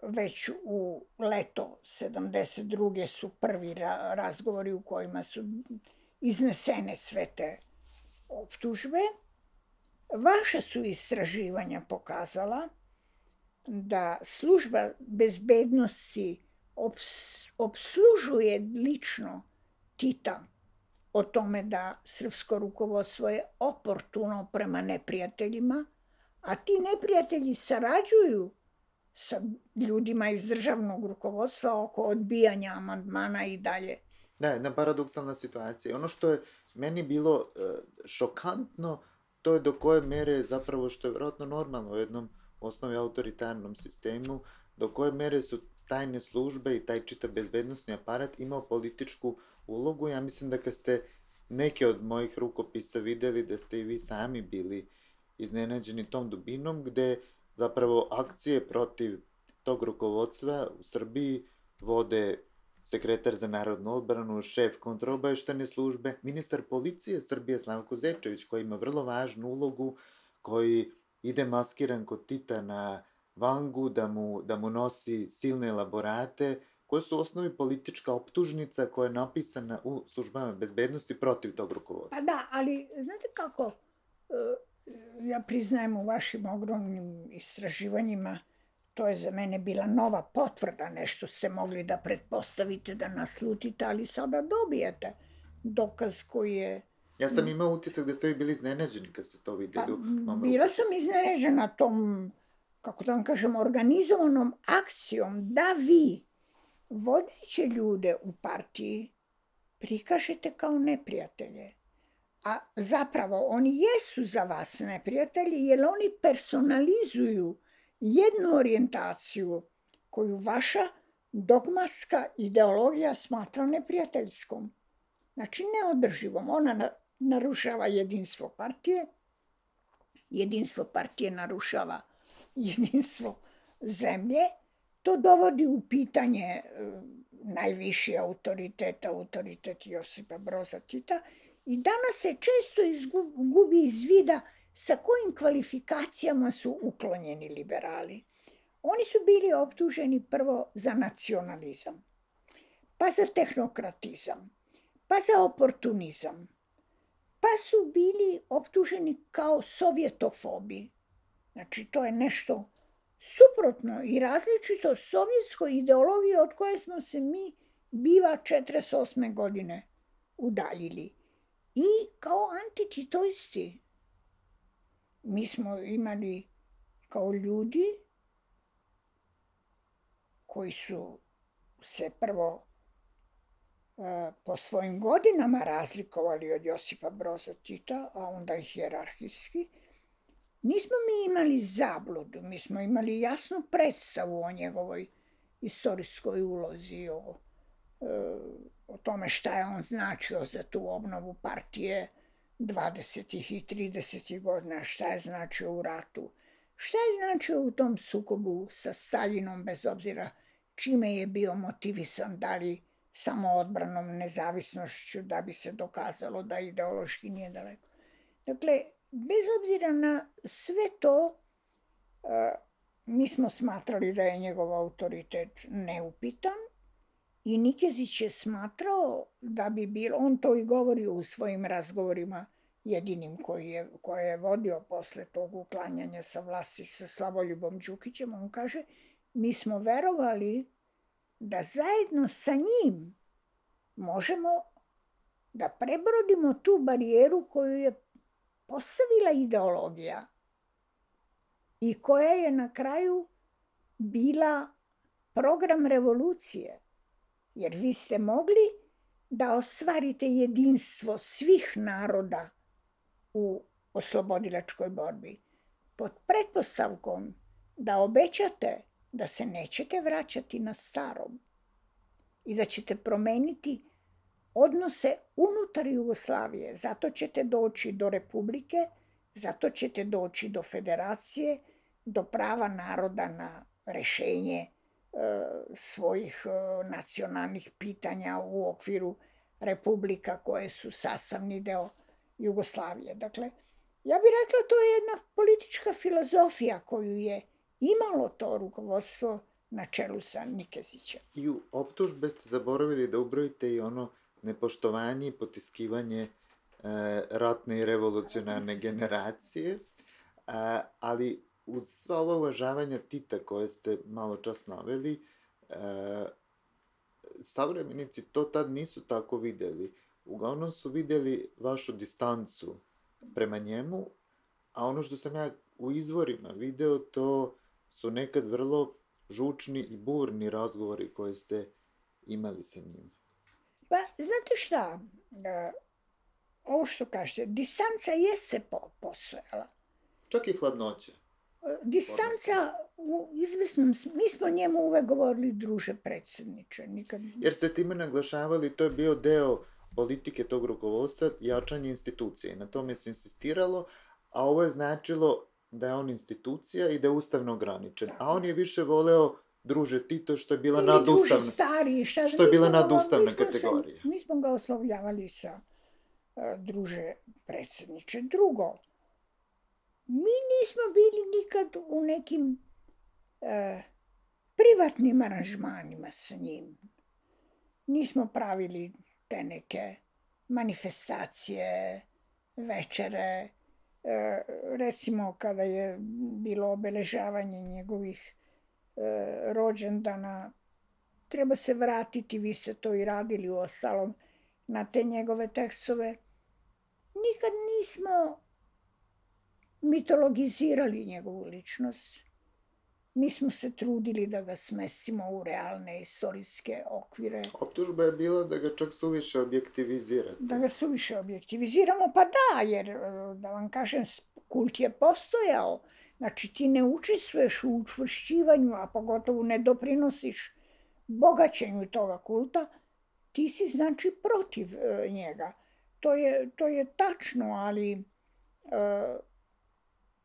već u leto sedamdeset druge su prvi razgovori u kojima su iznesene sve te optužbe. Vaša su istraživanja pokazala da služba bezbednosti obslužuje lično Tita o tome da srpsko rukovodstvo je oportuno prema neprijateljima, a ti neprijatelji sarađuju sa ljudima iz državnog rukovodstva oko odbijanja amandmana i dalje. Da, jedna paradoksalna situacija. Ono što je meni bilo uh, šokantno, to je do koje mere zapravo, što je vjerojatno normalno u jednom osnovi autoritarnom sistemu, do koje mere su tajne službe i taj čitav bezbednosni aparat imao političku ulogu. Ja mislim da kad ste neke od mojih rukopisa videli, da ste i vi sami bili iznenađeni tom dubinom, gde zapravo akcije protiv tog rukovodstva u Srbiji vode sekretar za narodnu odbranu, šef kontraobaveštajne službe, ministar policije Srbije Slavko Zečević, koji ima vrlo važnu ulogu, koji ide maskiran kod Tita na Vangu, da mu, da mu nosi silne elaborate, koje su u osnovi politička optužnica koja je napisana u službama bezbednosti protiv tog rukovodstva. Pa da, ali znate kako, ja priznajem u vašim ogromnim istraživanjima, to je za mene bila nova potvrda, nešto ste mogli da pretpostavite, da naslutite, ali sada dobijete dokaz koji je... Ja sam imao utisak da ste vi bili iznenađeni kad ste to vidjeli. Pa, bila sam iznenađena tom, kako da vam kažem, organizovanom akcijom da vi vodeće ljude u partiji prikažete kao neprijatelje. A zapravo oni jesu za vas neprijatelji jer oni personalizuju jednu orijentaciju koju vaša dogmatska ideologija smatra neprijateljskom. Znači neodrživom. Ona narušava jedinstvo partije, jedinstvo partije narušava jedinstvo zemlje, to dovodi u pitanje najviši autoritet, autoritet Josipa Broza Tita, i danas se često izgubi iz vida sa kojim kvalifikacijama su uklonjeni liberali. Oni su bili optuženi prvo za nacionalizam, pa za tehnokratizam, pa za oportunizam, pa su bili optuženi kao sovjetofobi. Znači, to je nešto suprotno i različito sovjetskoj ideologiji od koje smo se mi biva četrdeset osme godine udaljili. I kao antititoisti mi smo imali kao ljudi koji su se prvo po svojim godinama razlikovali od Josipa Broza Tita, a onda i hijerarhijski. Nismo mi imali zabludu, mi smo imali jasnu predstavu o njegovoj istorijskoj ulozi, o, o tome šta je on značio za tu obnovu partije dvadesetih i tridesetih godina, šta je značio u ratu, šta je značio u tom sukobu sa Staljinom, bez obzira čime je bio motivisan, da li samo odbranom, nezavisnošću, da bi se dokazalo da ideološki nije daleko. Dakle, bez obzira na sve to, mi smo smatrali da je njegov autoritet neupitan i Nikezić je smatrao da bi bilo, on to i govori u svojim razgovorima, jedinim koji je, koje je vodio posle tog uklanjanja sa vlasti sa Slavoljubom Đukićem, on kaže, mi smo verovali da zajedno sa njim možemo da prebrodimo tu barijeru koju je postavila ideologija i koja je na kraju bila program revolucije. Jer vi ste mogli da ostvarite jedinstvo svih naroda u oslobodilačkoj borbi pod pretpostavkom da obećate da se nećete vraćati na starom i da ćete promeniti odnose unutar Jugoslavije. Zato ćete doći do republike, zato ćete doći do federacije, do prava naroda na rešenje e, svojih e, nacionalnih pitanja u okviru republika koje su sastavni deo Jugoslavije. Dakle, ja bih rekla to je jedna politička filozofija koju je imalo to rukovodstvo na čelu sa Nikezićem. I u optužbe ste zaboravili da ubrojite i ono nepoštovanje i potiskivanje e, ratne i revolucionarne generacije, a, ali uz sva ova uvažavanja Tita koje ste malo čas naveli, e, savremenici to tad nisu tako videli. Uglavnom su videli vašu distancu prema njemu, a ono što sam ja u izvorima video, to su nekad vrlo žučni i burni razgovori koje ste imali sa njim? Pa, znate šta, ovo što kažete, distanca je se postojala. Čak i hladnoća. Distanca u izvesnom, mi smo njemu uvek govorili druže predsjedniče. Nikad... Jer ste time naglašavali, to je bio deo politike tog rukovodstva, jačanje institucije. Na tome se insistiralo, a ovo je značilo da je on institucija i da je ustavno ograničen. A on je više voleo druže Tito, što je bila ili nadustavna, druže stari, šta, što je bila smo nadustavna mi smo kategorija. Se, mi smo ga oslovljavali sa uh, druže predsjedniče. Drugo, mi nismo bili nikad u nekim uh, privatnim aranžmanima sa njim. Nismo pravili te neke manifestacije, večere, uh, recimo kada je bilo obeležavanje njegovih uh, rođendana, treba se vratiti, vi ste to i radili u ostalom, na te njegove tekstove. Nikad nismo mitologizirali njegovu ličnost. Mi smo se trudili da ga smestimo u realne istorijske okvire. Optužba je bila da ga čak suviše objektivizirate. Da ga suviše objektiviziramo, pa da, jer da vam kažem, kult je postojao. Znači ti ne učestvuješ u učvršćivanju, a pogotovo ne doprinosiš bogaćenju toga kulta, ti si znači protiv uh, njega. To je, to je tačno, ali uh,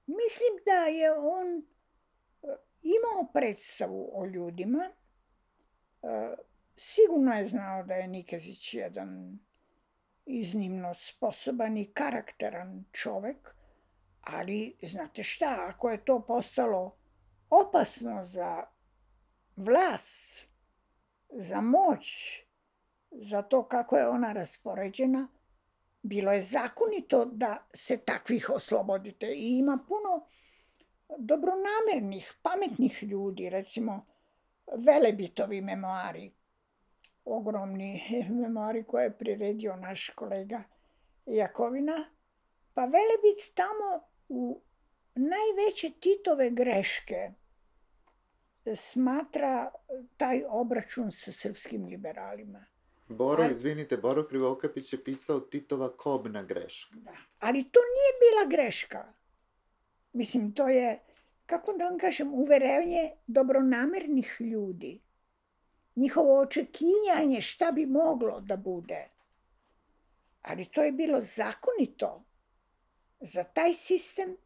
mislim da je on uh, imao predstavu o ljudima. Uh, sigurno je znao da je Nikezić jedan iznimno sposoban i karakteran čovek, ali znate šta, ako je to postalo opasno za vlast, za moć, za to kako je ona raspoređena, bilo je zakonito da se takvih oslobodite. I ima puno dobronamernih, pametnih ljudi, recimo Velebitovi memoari, ogromni memoari koje je priredio naš kolega Jakovina, pa Velebit tamo u najveće Titove greške smatra taj obračun sa srpskim liberalima. Boro, ali, izvinite, Boro Krivokapić je pisao Titova kobna greška. Da, ali to nije bila greška. Mislim, to je, kako da vam kažem, uverenje dobronamernih ljudi. Njihovo očekivanje šta bi moglo da bude. Ali to je bilo zakonito za taj sistem,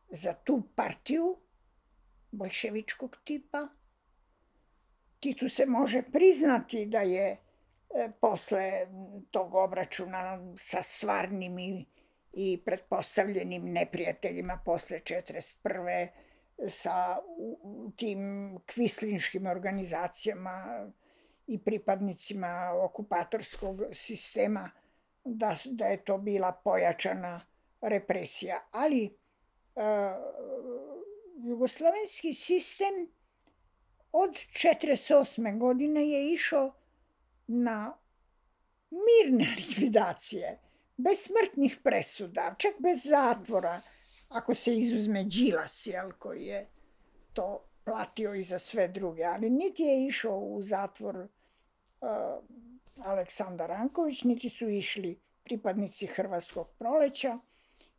za tu partiju bolševičkog tipa. Titu se može priznati da je e, posle tog obračuna sa stvarnim i, i pretpostavljenim neprijateljima posle četrdeset prve sa u, tim kvislinškim organizacijama i pripadnicima okupatorskog sistema, da, da je to bila pojačana represija. Ali e, jugoslovenski sistem od četrdeset osme godine je išao na mirne likvidacije, bez smrtnih presuda, čak bez zatvora, ako se izuzme Đilas, jel, koji je to platio i za sve druge. Ali niti je išao u zatvor uh, Aleksandar Ranković, niti su išli pripadnici Hrvatskog proleća,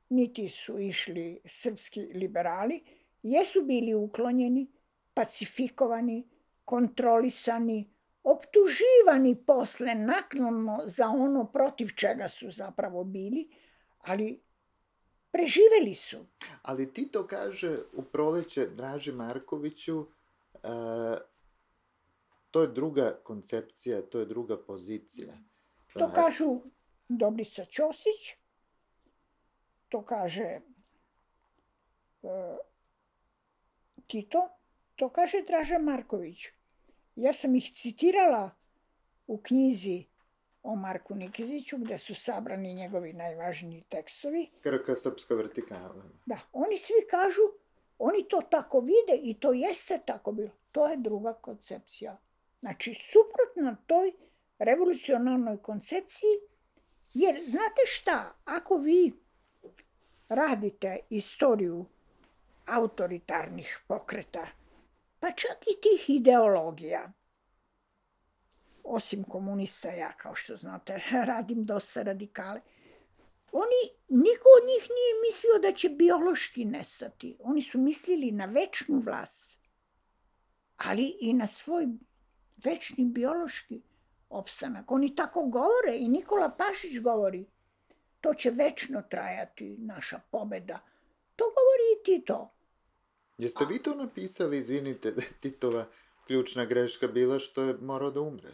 niti su išli srpski liberali. Jesu bili uklonjeni, pacifikovani, kontrolisani, optuživani posle naknadno za ono protiv čega su zapravo bili, ali preživeli su. Ali Tito kaže u Proleće Draži Markoviću, uh, to je druga koncepcija, to je druga pozicija. To uh, kažu Dobrica Ćosić, to kaže uh, Tito, to kaže Draža Marković. Ja sam ih citirala u knjizi o Marku Nikeziću, gde su sabrani njegovi najvažniji tekstovi. Krka srpska vertikala. Da, oni svi kažu, oni to tako vide i to jeste tako bilo. To je druga koncepcija. Znači, suprotno toj revolucionarnoj koncepciji, jer znate šta, ako vi radite istoriju autoritarnih pokreta pa čak i tih ideologija. Osim komunista, ja, kao što znate, radim dosta radikale. Oni, niko od njih nije mislio da će biološki nestati. Oni su mislili na večnu vlast, ali i na svoj večni biološki opstanak. Oni tako govore i Nikola Pašić govori, to će večno trajati, naša pobeda. To govori i Tito. Jeste vi to napisali, izvinite, da je Titova ključna greška bila što je morao da umre?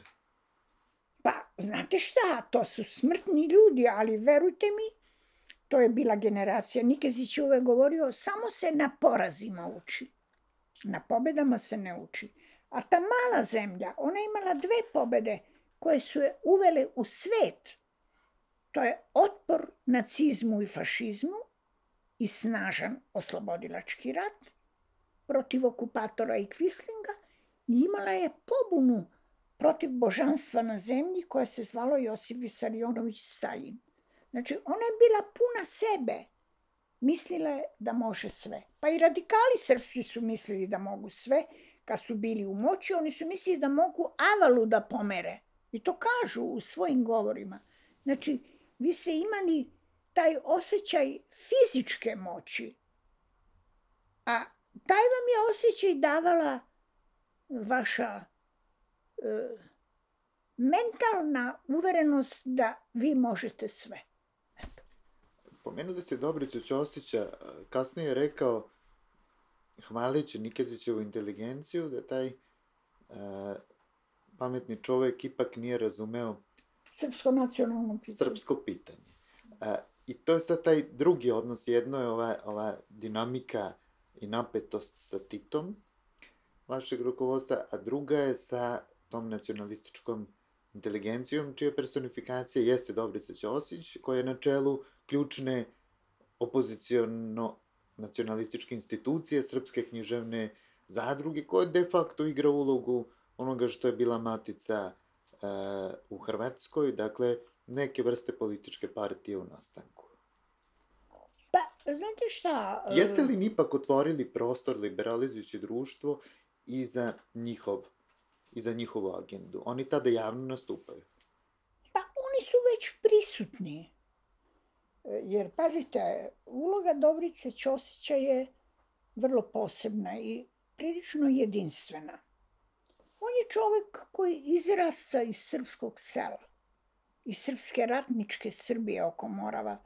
Pa, znate šta, to su smrtni ljudi, ali verujte mi, to je bila generacija. Nikezić je uvek govorio, samo se na porazima uči. Na pobedama se ne uči. A ta mala zemlja, ona je imala dve pobede koje su je uvele u svet. To je otpor nacizmu i fašizmu i snažan oslobodilački rat protiv okupatora i Kvislinga i imala je pobunu protiv božanstva na zemlji koja se zvalo Josif Visarionović Staljin. Znači, ona je bila puna sebe. Mislila je da može sve. Pa i radikali srpski su mislili da mogu sve. Kad su bili u moći, oni su mislili da mogu Avalu da pomere. I to kažu u svojim govorima. Znači, vi ste imali taj osjećaj fizičke moći, a taj vam je osjećaj davala vaša e, mentalna uverenost da vi možete sve. Pomenuli ste Dobricu Ćosića, kasnije je rekao, hvaleći Nikezićevu inteligenciju, da taj e, pametni čovek ipak nije razumeo Srpsko nacionalno pitanje. Srpsko pitanje. E, I to je sad taj drugi odnos. Jedno je ova, ova dinamika i napetost sa Titom vašeg rukovodstva, a druga je sa tom nacionalističkom inteligencijom, čija personifikacija jeste Dobrica Ćosić, koja je na čelu ključne opoziciono-nacionalističke institucije, Srpske književne zadruge, koja de facto igra ulogu onoga što je bila matica uh, u Hrvatskoj, dakle, neke vrste političke partije u nastanku. Pa, znate šta... Jeste li mi ipak otvorili prostor liberalizujući društvo i za njihov, i za njihovu agendu? Oni tada javno nastupaju. Pa, oni su već prisutni. Jer, pazite, uloga Dobrice Ćosića je vrlo posebna i prilično jedinstvena. On je čovek koji izrasta iz srpskog sela, iz srpske ratničke Srbije oko Morava.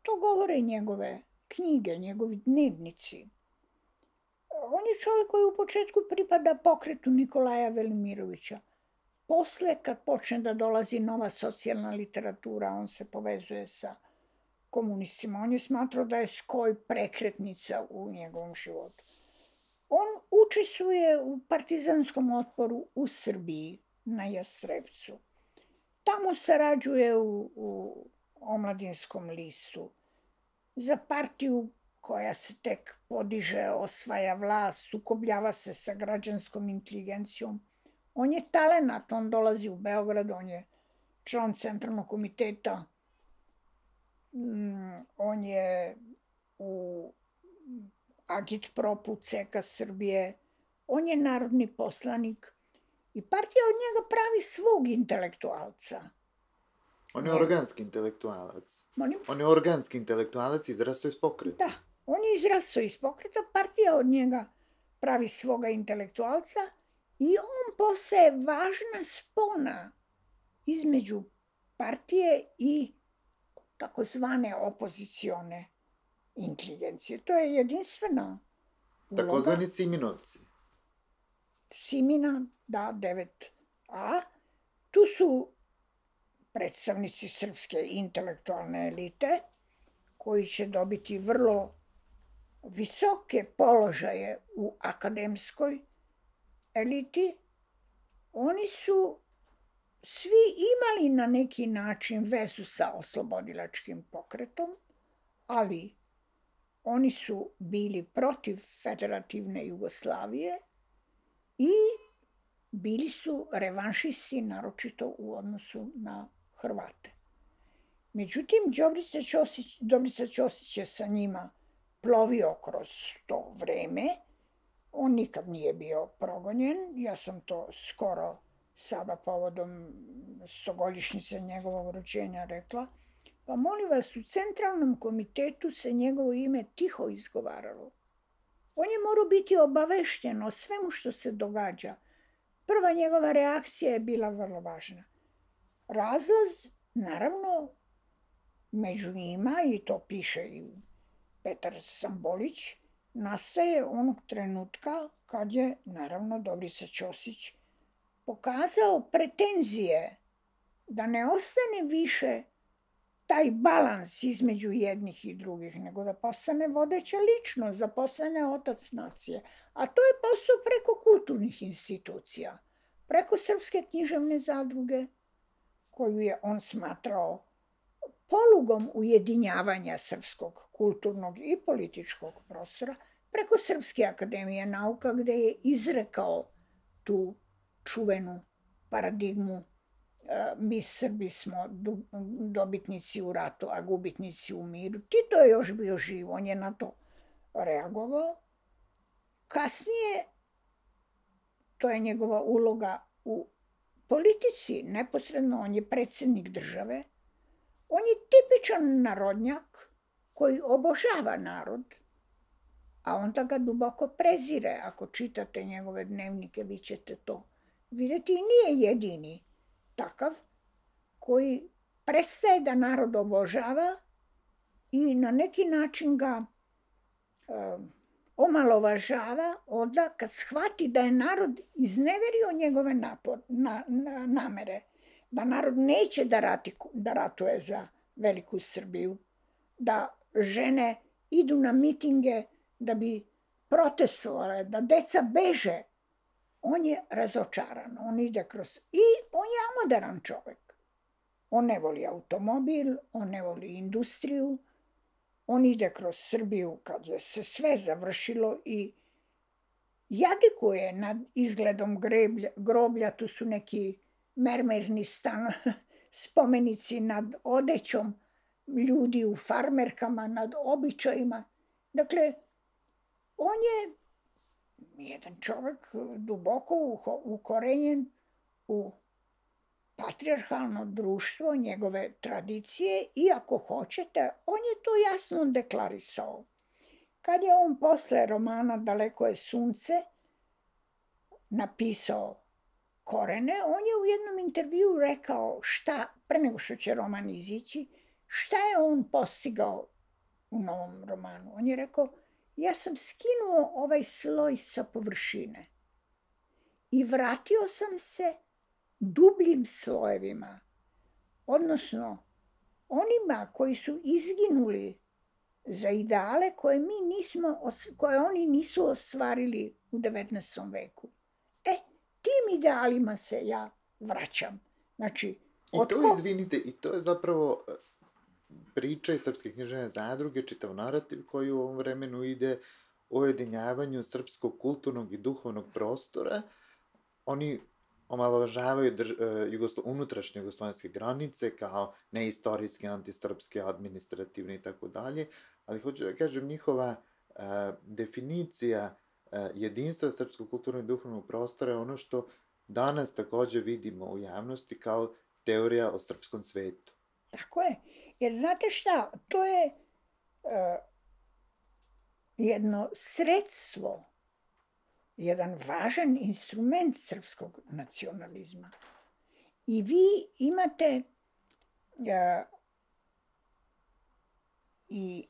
To govore njegove knjige, njegovi dnevnici. On je čovjek koji u početku pripada pokretu Nikolaja Velimirovića. Posle, kad počne da dolazi nova socijalna literatura, on se povezuje sa komunistima. On je smatrao da je skoj prekretnica u njegovom životu. On učestvuje u partizanskom otporu u Srbiji, na Jastrebcu. Tamo sarađuje u, u omladinskom listu. Za partiju koja se tek podiže, osvaja vlast, sukobljava se sa građanskom inteligencijom. On je talenat, on dolazi u Beograd, on je član centralnog komiteta, on je u Agitpropu C K Srbije, on je narodni poslanik i partija od njega pravi svog intelektualca. On je organski intelektualac. Molim? On je organski intelektualac, izrastao iz pokreta. Da, on je izrastao iz pokreta, partija od njega pravi svoga intelektualca i on postaje važna spona između partije i takozvane opozicione inteligencije. To je jedinstvena uloga. Takozvani Siminovci. Simina, da, devet A. Tu su predstavnici srpske intelektualne elite, koji će dobiti vrlo visoke položaje u akademskoj eliti. Oni su svi imali na neki način vezu sa oslobodilačkim pokretom, ali oni su bili protiv federativne Jugoslavije i bili su revanšisti, naročito u odnosu na Hrvate. Međutim, Dobrica Ćosić, Dobrica Ćosić je sa njima plovio kroz to vreme On nikad nije bio progonjen. Ja sam to skoro sada povodom stogodišnjice njegovog rođenja rekla. Pa molim vas, u centralnom komitetu se njegovo ime tiho izgovaralo. On je morao biti obavešten o svemu što se događa. Prva njegova reakcija je bila vrlo važna. Razlaz, naravno, među njima, i to piše i Petar Stambolić, nastaje onog trenutka kad je, naravno, Dobrica Ćosić pokazao pretenzije da ne ostane više taj balans između jednih i drugih, nego da postane vodeća ličnost, da postane otac nacije. A to je postao preko kulturnih institucija, preko Srpske književne zadruge, koju je on smatrao polugom ujedinjavanja srpskog kulturnog i političkog prostora, preko Srpske akademije nauka, gde je izrekao tu čuvenu paradigmu mi Srbi smo dobitnici u ratu, a gubitnici u miru. Tito je još bio živ, on je na to reagovao. Kasnije, to je njegova uloga u politici, neposredno, on je predsjednik države. On je tipičan narodnjak koji obožava narod, a onda ga duboko prezire. Ako čitate njegove dnevnike, vi ćete to vidjeti. I nije jedini takav koji prestaje da narod obožava i na neki način ga um, omalovažava onda kad shvati da je narod izneverio njegove napor, na, na, namere, da narod neće da, rati, da ratuje za veliku Srbiju, da žene idu na mitinge da bi protestovale, da deca beže. On je razočaran, on ide kroz... I on je amoderan čovek. On ne voli automobil, on ne voli industriju, on ide kroz Srbiju kad je se sve završilo i jadikuje nad izgledom greblja, groblja, tu su neki mermerni stan, spomenici nad odećom ljudi u farmerkama, nad običajima. Dakle, on je jedan čovek duboko ukorenjen u patrijarhalno društvo, njegove tradicije i ako hoćete, on je to jasno deklarisao. Kad je on posle romana Daleko je sunce napisao Korene, on je u jednom intervjuu rekao šta, pre nego što će roman izići, šta je on postigao u novom romanu. On je rekao, ja sam skinuo ovaj sloj sa površine i vratio sam se dubljim slojevima, odnosno onima koji su izginuli za ideale koje, mi nismo, koje oni nisu ostvarili u devetnaestom veku. E, tim idealima se ja vraćam. Znači, I to, otko... izvinite, i to je zapravo priča iz Srpske književne zadruge, čitav narativ koji u ovom vremenu ide o ujedinjavanju srpskog kulturnog i duhovnog prostora. Oni omalovažavaju drž, jugoslo, unutrašnje jugoslovenske granice kao neistorijske, antisrpske, administrativne i tako dalje, ali hoću da kažem, njihova uh, definicija uh, jedinstva srpskog kulturnog i duhovnog prostora je ono što danas takođe vidimo u javnosti kao teorija o srpskom svetu. Tako je. Jer znate šta, to je uh, jedno sredstvo, jedan važan instrument srpskog nacionalizma. I vi imate uh, i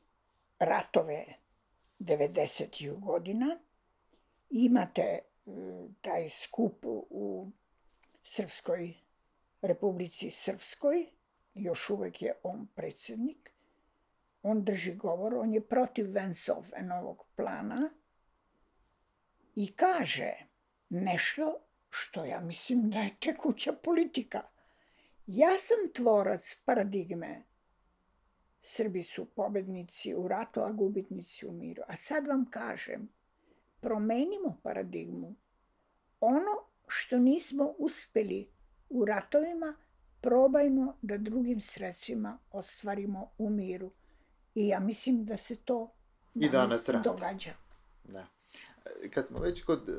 ratove devedesetih godina, imate uh, taj skup u Srpskoj Republici Srpskoj, još uvek je on predsjednik, on drži govor, on je protiv Vance-Owenovog plana i kaže nešto što ja mislim da je tekuća politika. Ja sam tvorac paradigme. Srbi su pobednici u ratu, a gubitnici u miru. A sad vam kažem, promenimo paradigmu. Ono što nismo uspeli u ratovima, probajmo da drugim sredstvima ostvarimo u miru. I ja mislim da se to I danas događa. Da. Kad smo već kod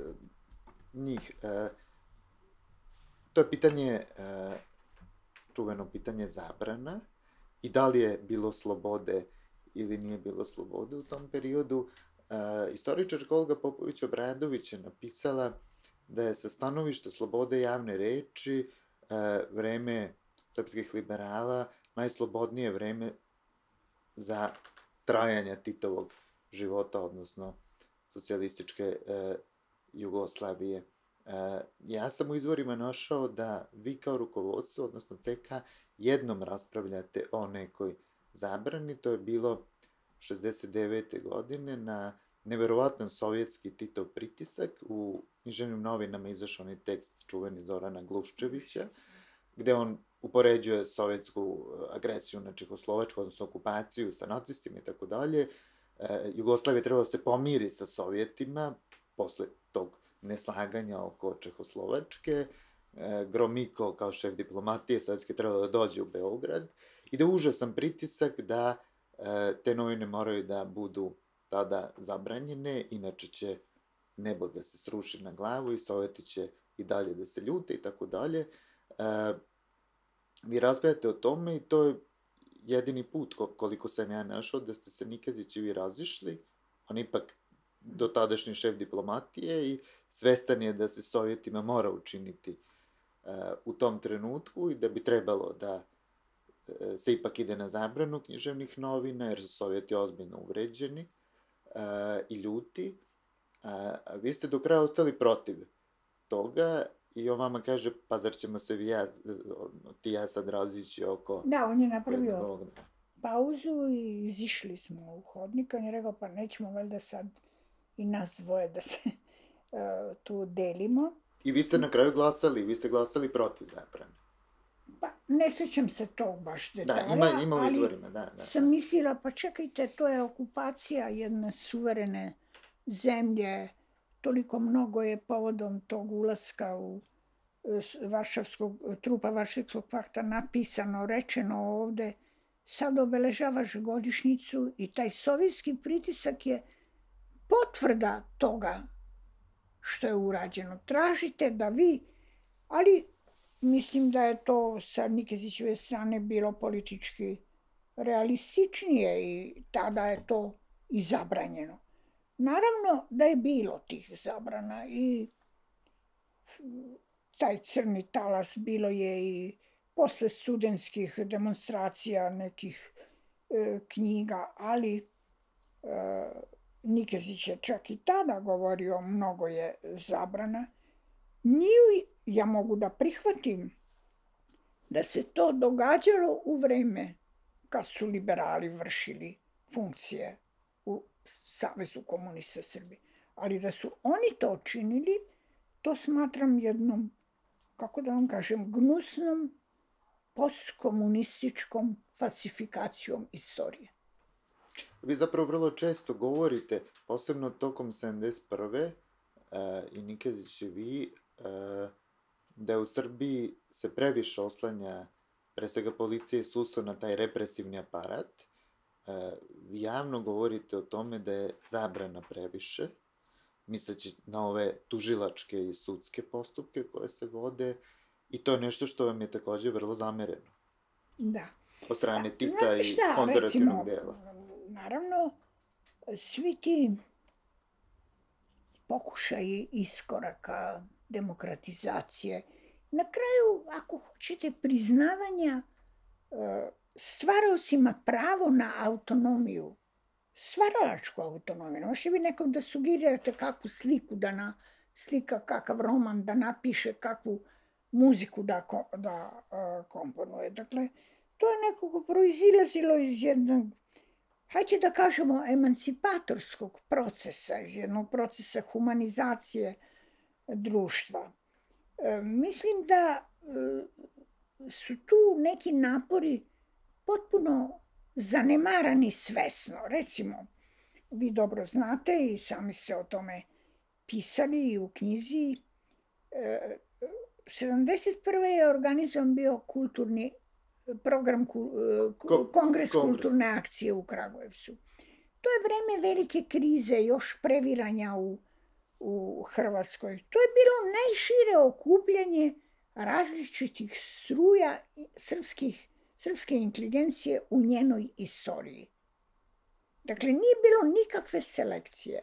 njih, to je pitanje, čuveno pitanje zabrana i da li je bilo slobode ili nije bilo slobode u tom periodu. Istoričarka Olga Popović-Obradović je napisala da je sa stanovišta slobode javne reči vreme srpskih liberala najslobodnije vreme za trajanja Titovog života, odnosno socijalističke Jugoslavije. Ja sam u izvorima našao da vi kao rukovodstvo, odnosno C K, jednom raspravljate o nekoj zabrani. To je bilo šezdeset devete godine na neverovatan sovjetski Titov pritisak. U književnim novinama izašao onaj tekst čuveni Zorana Gluščevića, gde on upoređuje sovjetsku agresiju na Čehoslovačku, odnosno okupaciju sa nacistima i tako dalje. Jugoslavija trebala da se pomiri sa Sovjetima posle tog neslaganja oko Čehoslovačke. Gromiko kao šef diplomatije sovjetske trebalo da dođe u Beograd i da užasan pritisak da te novine moraju da budu tada zabranjene, inače će nebo da se sruši na glavu i Sovjeti će i dalje da se ljute i tako dalje. Vi raspravljate o tome i to je jedini put, koliko sam ja našao, da ste se Nikezić i vi razišli. On ipak dotadašnji šef diplomatije i svestan je da se Sovjetima mora učiniti u tom trenutku i da bi trebalo da se ipak ide na zabranu književnih novina, jer su Sovjeti ozbiljno uvređeni i ljuti. Vi ste do kraja ostali protiv toga i on vama kaže, pa zar ćemo se vi ja, ti ja sad razići oko... Da, on je napravio pauzu i izišli smo u hodnik. On je rekao, pa nećemo valjda sad i nas dvoje da se tu delimo. I vi ste na kraju glasali, vi ste glasali protiv zabrane. Pa, ne sećam se tog baš detalja, da, ima, ima u izvorima, da, da. Sam mislila, pa čekajte, to je okupacija jedne suverene zemlje, toliko mnogo je povodom tog ulaska u Varšavskog, trupa Varšavskog pakta napisano, rečeno ovde, sad obeležavaš godišnjicu i taj sovjetski pritisak je potvrda toga što je urađeno. Tražite da vi, ali mislim da je to sa Nikezićeve strane bilo politički realističnije i tada je to i zabranjeno. Naravno da je bilo tih zabrana i taj crni talas bilo je i posle studentskih demonstracija nekih e, knjiga, ali e, Nikezić je čak i tada govorio mnogo je zabrana. Nije, ja mogu da prihvatim da se to događalo u vreme kad su liberali vršili funkcije u Savezu komunista Srbije. Ali da su oni to činili, to smatram jednom, kako da vam kažem, gnusnom postkomunističkom falsifikacijom istorije. Vi zapravo vrlo često govorite, posebno tokom sedamdeset prve i Nikezić i vi, da u Srbiji se previše oslanja pre svega policije i sudstvo na taj represivni aparat. Vi javno govorite o tome da je zabrana previše, misleći na ove tužilačke i sudske postupke koje se vode, i to je nešto što vam je takođe vrlo zamereno. Da. Od strane Tita i konzervativnog dela. Naravno, svi ti pokušaji iskoraka, demokratizacije, na kraju, ako hoćete, priznavanja stvaraocima pravo na autonomiju, stvaralačku autonomiju. Ne možete vi nekom da sugerirate kakvu sliku da na, slika, kakav roman da napiše, kakvu muziku da, da uh, komponuje. Dakle, to je nekako proizilazilo iz jednog, hajde da kažemo, emancipatorskog procesa, iz jednog procesa humanizacije društva. E, mislim da e, su tu neki napori potpuno zanemarani svesno. Recimo, vi dobro znate i sami ste o tome pisali i u knjizi, e, sedamdeset prve je organizovan bio kulturni program, Ko, kongres kulturne akcije u Kragujevcu. To je vreme velike krize, još previranja u u Hrvatskoj. To je bilo najšire okupljanje različitih struja srpskih, srpske inteligencije u njenoj istoriji. Dakle, nije bilo nikakve selekcije.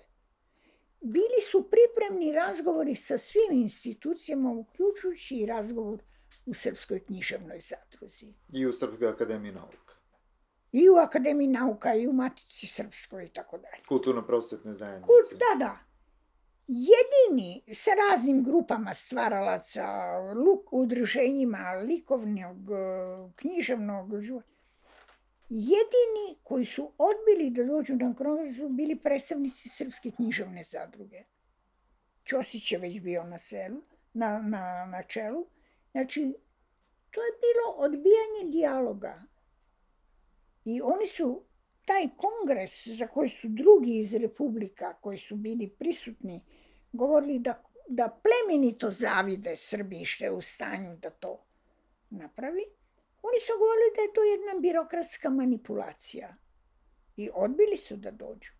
Bili su pripremni razgovori sa svim institucijama, uključujući i razgovor u Srpskoj književnoj zadruzi. I u Srpskoj akademiji nauka. I u Akademiji nauka, i u Matici Srpskoj i tako dalje. Kulturno-prosvetnoj zajednici. Kult, da, da. Jedini sa raznim grupama stvaralaca, luk, udruženjima likovnog, književnog života, jedini koji su odbili da dođu na kongres su bili predstavnici Srpske književne zadruge. Ćosić je već bio na, selu, na, na, na čelu. Znači, to je bilo odbijanje dijaloga. I oni su, taj kongres za koji su drugi iz republika koji su bili prisutni, govorili da, da plemenito zavide Srbiji što je u stanju da to napravi, oni su govorili da je to jedna birokratska manipulacija. I odbili su da dođu.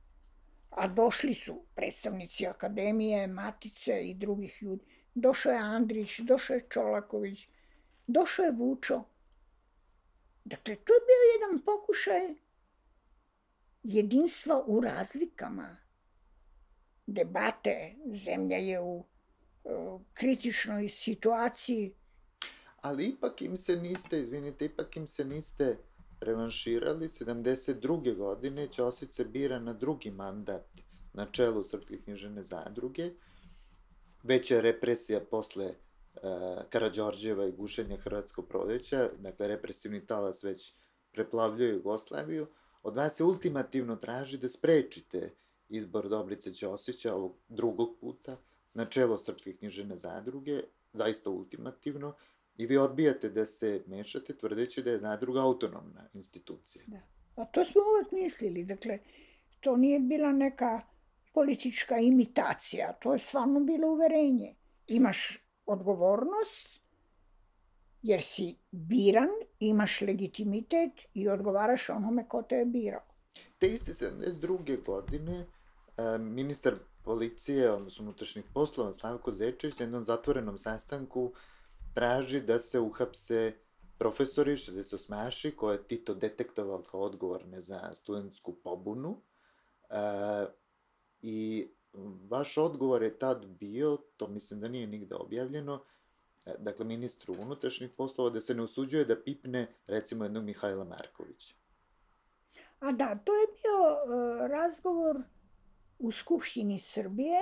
A došli su predstavnici akademije, Matice i drugih ljudi. Došao je Andrić, došao je Čolaković, došao je Vučo. Dakle, to je bio jedan pokušaj jedinstva u razlikama. Debate, zemlja je u uh, kritičnoj situaciji. Ali ipak im se niste, izvinite, ipak im se niste revanširali. sedamdeset druge godine Ćosić se bira na drugi mandat na čelu Srpske književne zadruge. Veća je represija posle uh, Karađorđeva i gušenja Hrvatskog proleća, dakle represivni talas već preplavljuje Jugoslaviju. Od vas se ultimativno traži da sprečite izbor Dobrice Ćosića ovog drugog puta na čelo Srpske književne zadruge, zaista ultimativno, i vi odbijate da se mešate tvrdeći da je zadruga autonomna institucija. Da. A to smo uvek mislili. Dakle, to nije bila neka politička imitacija, to je stvarno bilo uverenje. Imaš odgovornost, jer si biran, imaš legitimitet i odgovaraš onome ko te je birao. Te iste sedamdeset druge godine ministar policije, odnosno unutrašnjih poslova Slavko Zečević na jednom zatvorenom sastanku traži da se uhapse profesori šezdesetosmaši koje je Tito detektovao kao odgovorne za studentsku pobunu. E, I vaš odgovor je tad bio, to mislim da nije nigde objavljeno, dakle ministru unutrašnjih poslova, da se ne usuđuje da pipne recimo jednog Mihajla Markovića. A da, to je bio uh, razgovor u Skupštini Srbije,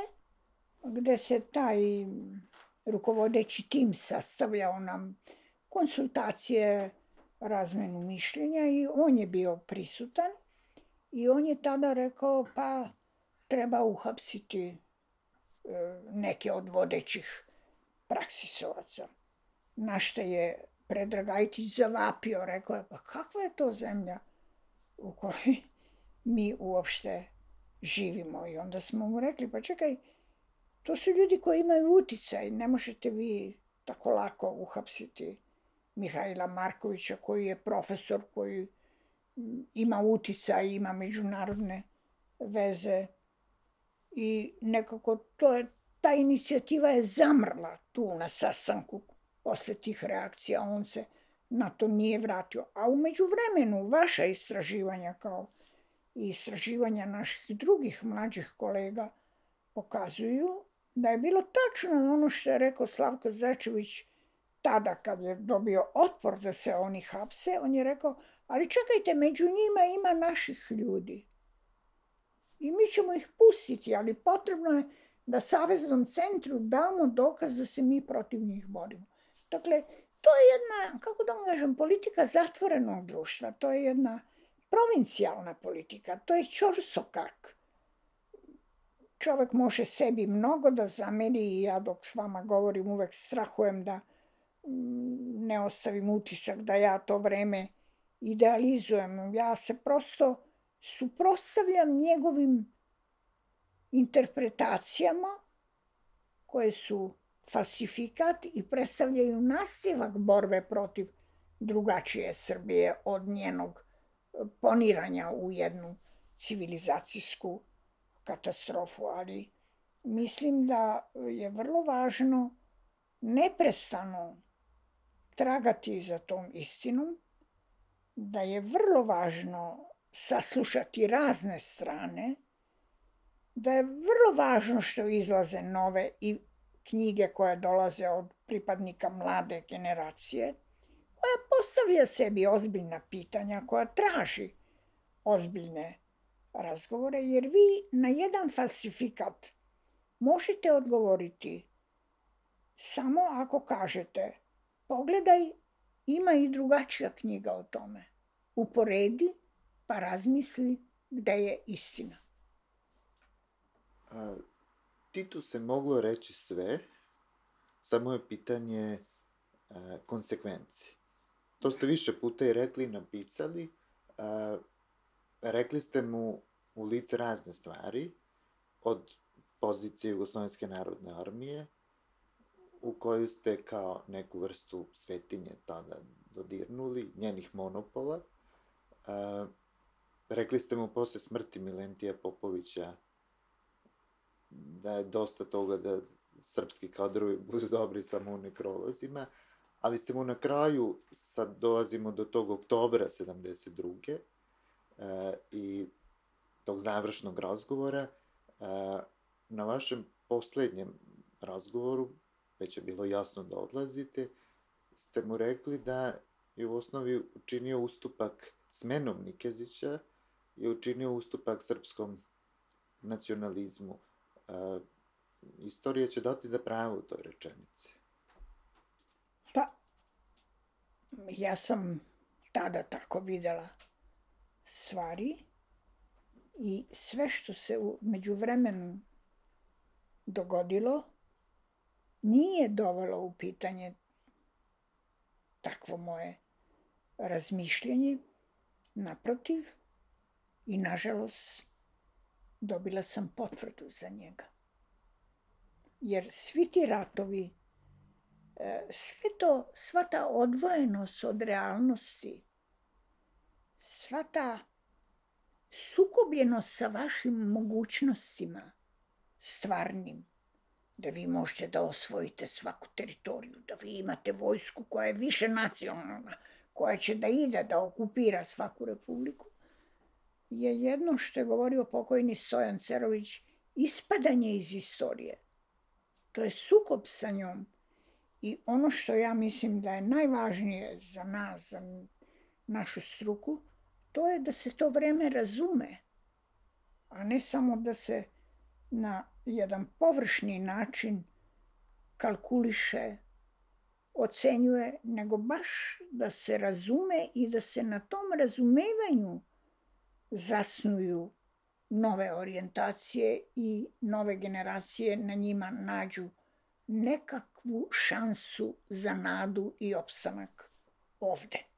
gde se taj rukovodeći tim sastavljao nam konsultacije, razmenu mišljenja i on je bio prisutan i on je tada rekao pa treba uhapsiti uh, neke od vodećih praksisovaca. Na što je Predrag Ajtić zavapio, rekao je, pa kakva je to zemlja u kojoj mi uopšte živimo? I onda smo mu rekli, pa čekaj, to su ljudi koji imaju uticaj, ne možete vi tako lako uhapsiti Mihajla Markovića, koji je profesor, koji ima uticaj, ima međunarodne veze i nekako to je, ta inicijativa je zamrla tu na sastanku posle tih reakcija, on se na to nije vratio. A umeđu vremenu vaša istraživanja kao i istraživanja naših drugih mlađih kolega pokazuju da je bilo tačno ono što je rekao Slavko Zečević tada kad je dobio otpor da se oni hapse, on je rekao, ali čekajte, među njima ima naših ljudi. I mi ćemo ih pustiti, ali potrebno je da Saveznom centru damo dokaz da se mi protiv njih borimo. Dakle, to je jedna, kako da vam kažem, politika zatvorenog društva, to je jedna provincijalna politika, to je ćorsokak. Čovek može sebi mnogo da zameri i ja dok s vama govorim uvek strahujem da ne ostavim utisak da ja to vreme idealizujem. Ja se prosto suprotstavljam njegovim interpretacijama koje su falsifikat i predstavljaju nastavak borbe protiv drugačije Srbije od njenog poniranja u jednu civilizacijsku katastrofu. Ali mislim da je vrlo važno neprestano tragati za tom istinom, da je vrlo važno saslušati razne strane, da je vrlo važno što izlaze nove i knjige koje dolaze od pripadnika mlade generacije, koja postavlja sebi ozbiljna pitanja, koja traži ozbiljne razgovore, jer vi na jedan falsifikat možete odgovoriti samo ako kažete pogledaj, ima i drugačija knjiga o tome. Uporedi pa razmisli gde je istina. A, Titu se moglo reći sve, samo je pitanje a, konsekvenci. To ste više puta i rekli i napisali. A, rekli ste mu u lice razne stvari, od pozicije Jugoslovenske narodne armije, u koju ste kao neku vrstu svetinje tada dodirnuli, njenih monopola. A, rekli ste mu posle smrti Milentija Popovića da je dosta toga da srpski kadrovi budu dobri samo u nekrolozima, ali ste mu na kraju, sad dolazimo do tog oktobra sedamdeset druge Uh, i tog završnog razgovora, uh, na vašem poslednjem razgovoru, već je bilo jasno da odlazite, ste mu rekli da je u osnovi učinio ustupak smenom Nikezića, je učinio ustupak srpskom nacionalizmu. Uh, istorija će dati za pravo u toj rečenici. Pa, ja sam tada tako videla stvari i sve što se u međuvremenu dogodilo nije dovelo u pitanje takvo moje razmišljanje. Naprotiv, i nažalost dobila sam potvrdu za njega. Jer svi ti ratovi, sve to, sva ta odvojenost od realnosti, sva ta sukobljenost sa vašim mogućnostima stvarnim, da vi možete da osvojite svaku teritoriju, da vi imate vojsku koja je više nacionalna, koja će da ide da okupira svaku republiku, je jedno što je govorio pokojni Stojan Cerović, ispadanje iz istorije. To je sukob sa njom. I ono što ja mislim da je najvažnije za nas, za našu struku, to je da se to vreme razume, a ne samo da se na jedan površni način kalkuliše, ocenjuje, nego baš da se razume i da se na tom razumevanju zasnuju nove orijentacije i nove generacije na njima nađu nekakvu šansu za nadu i opstanak ovde.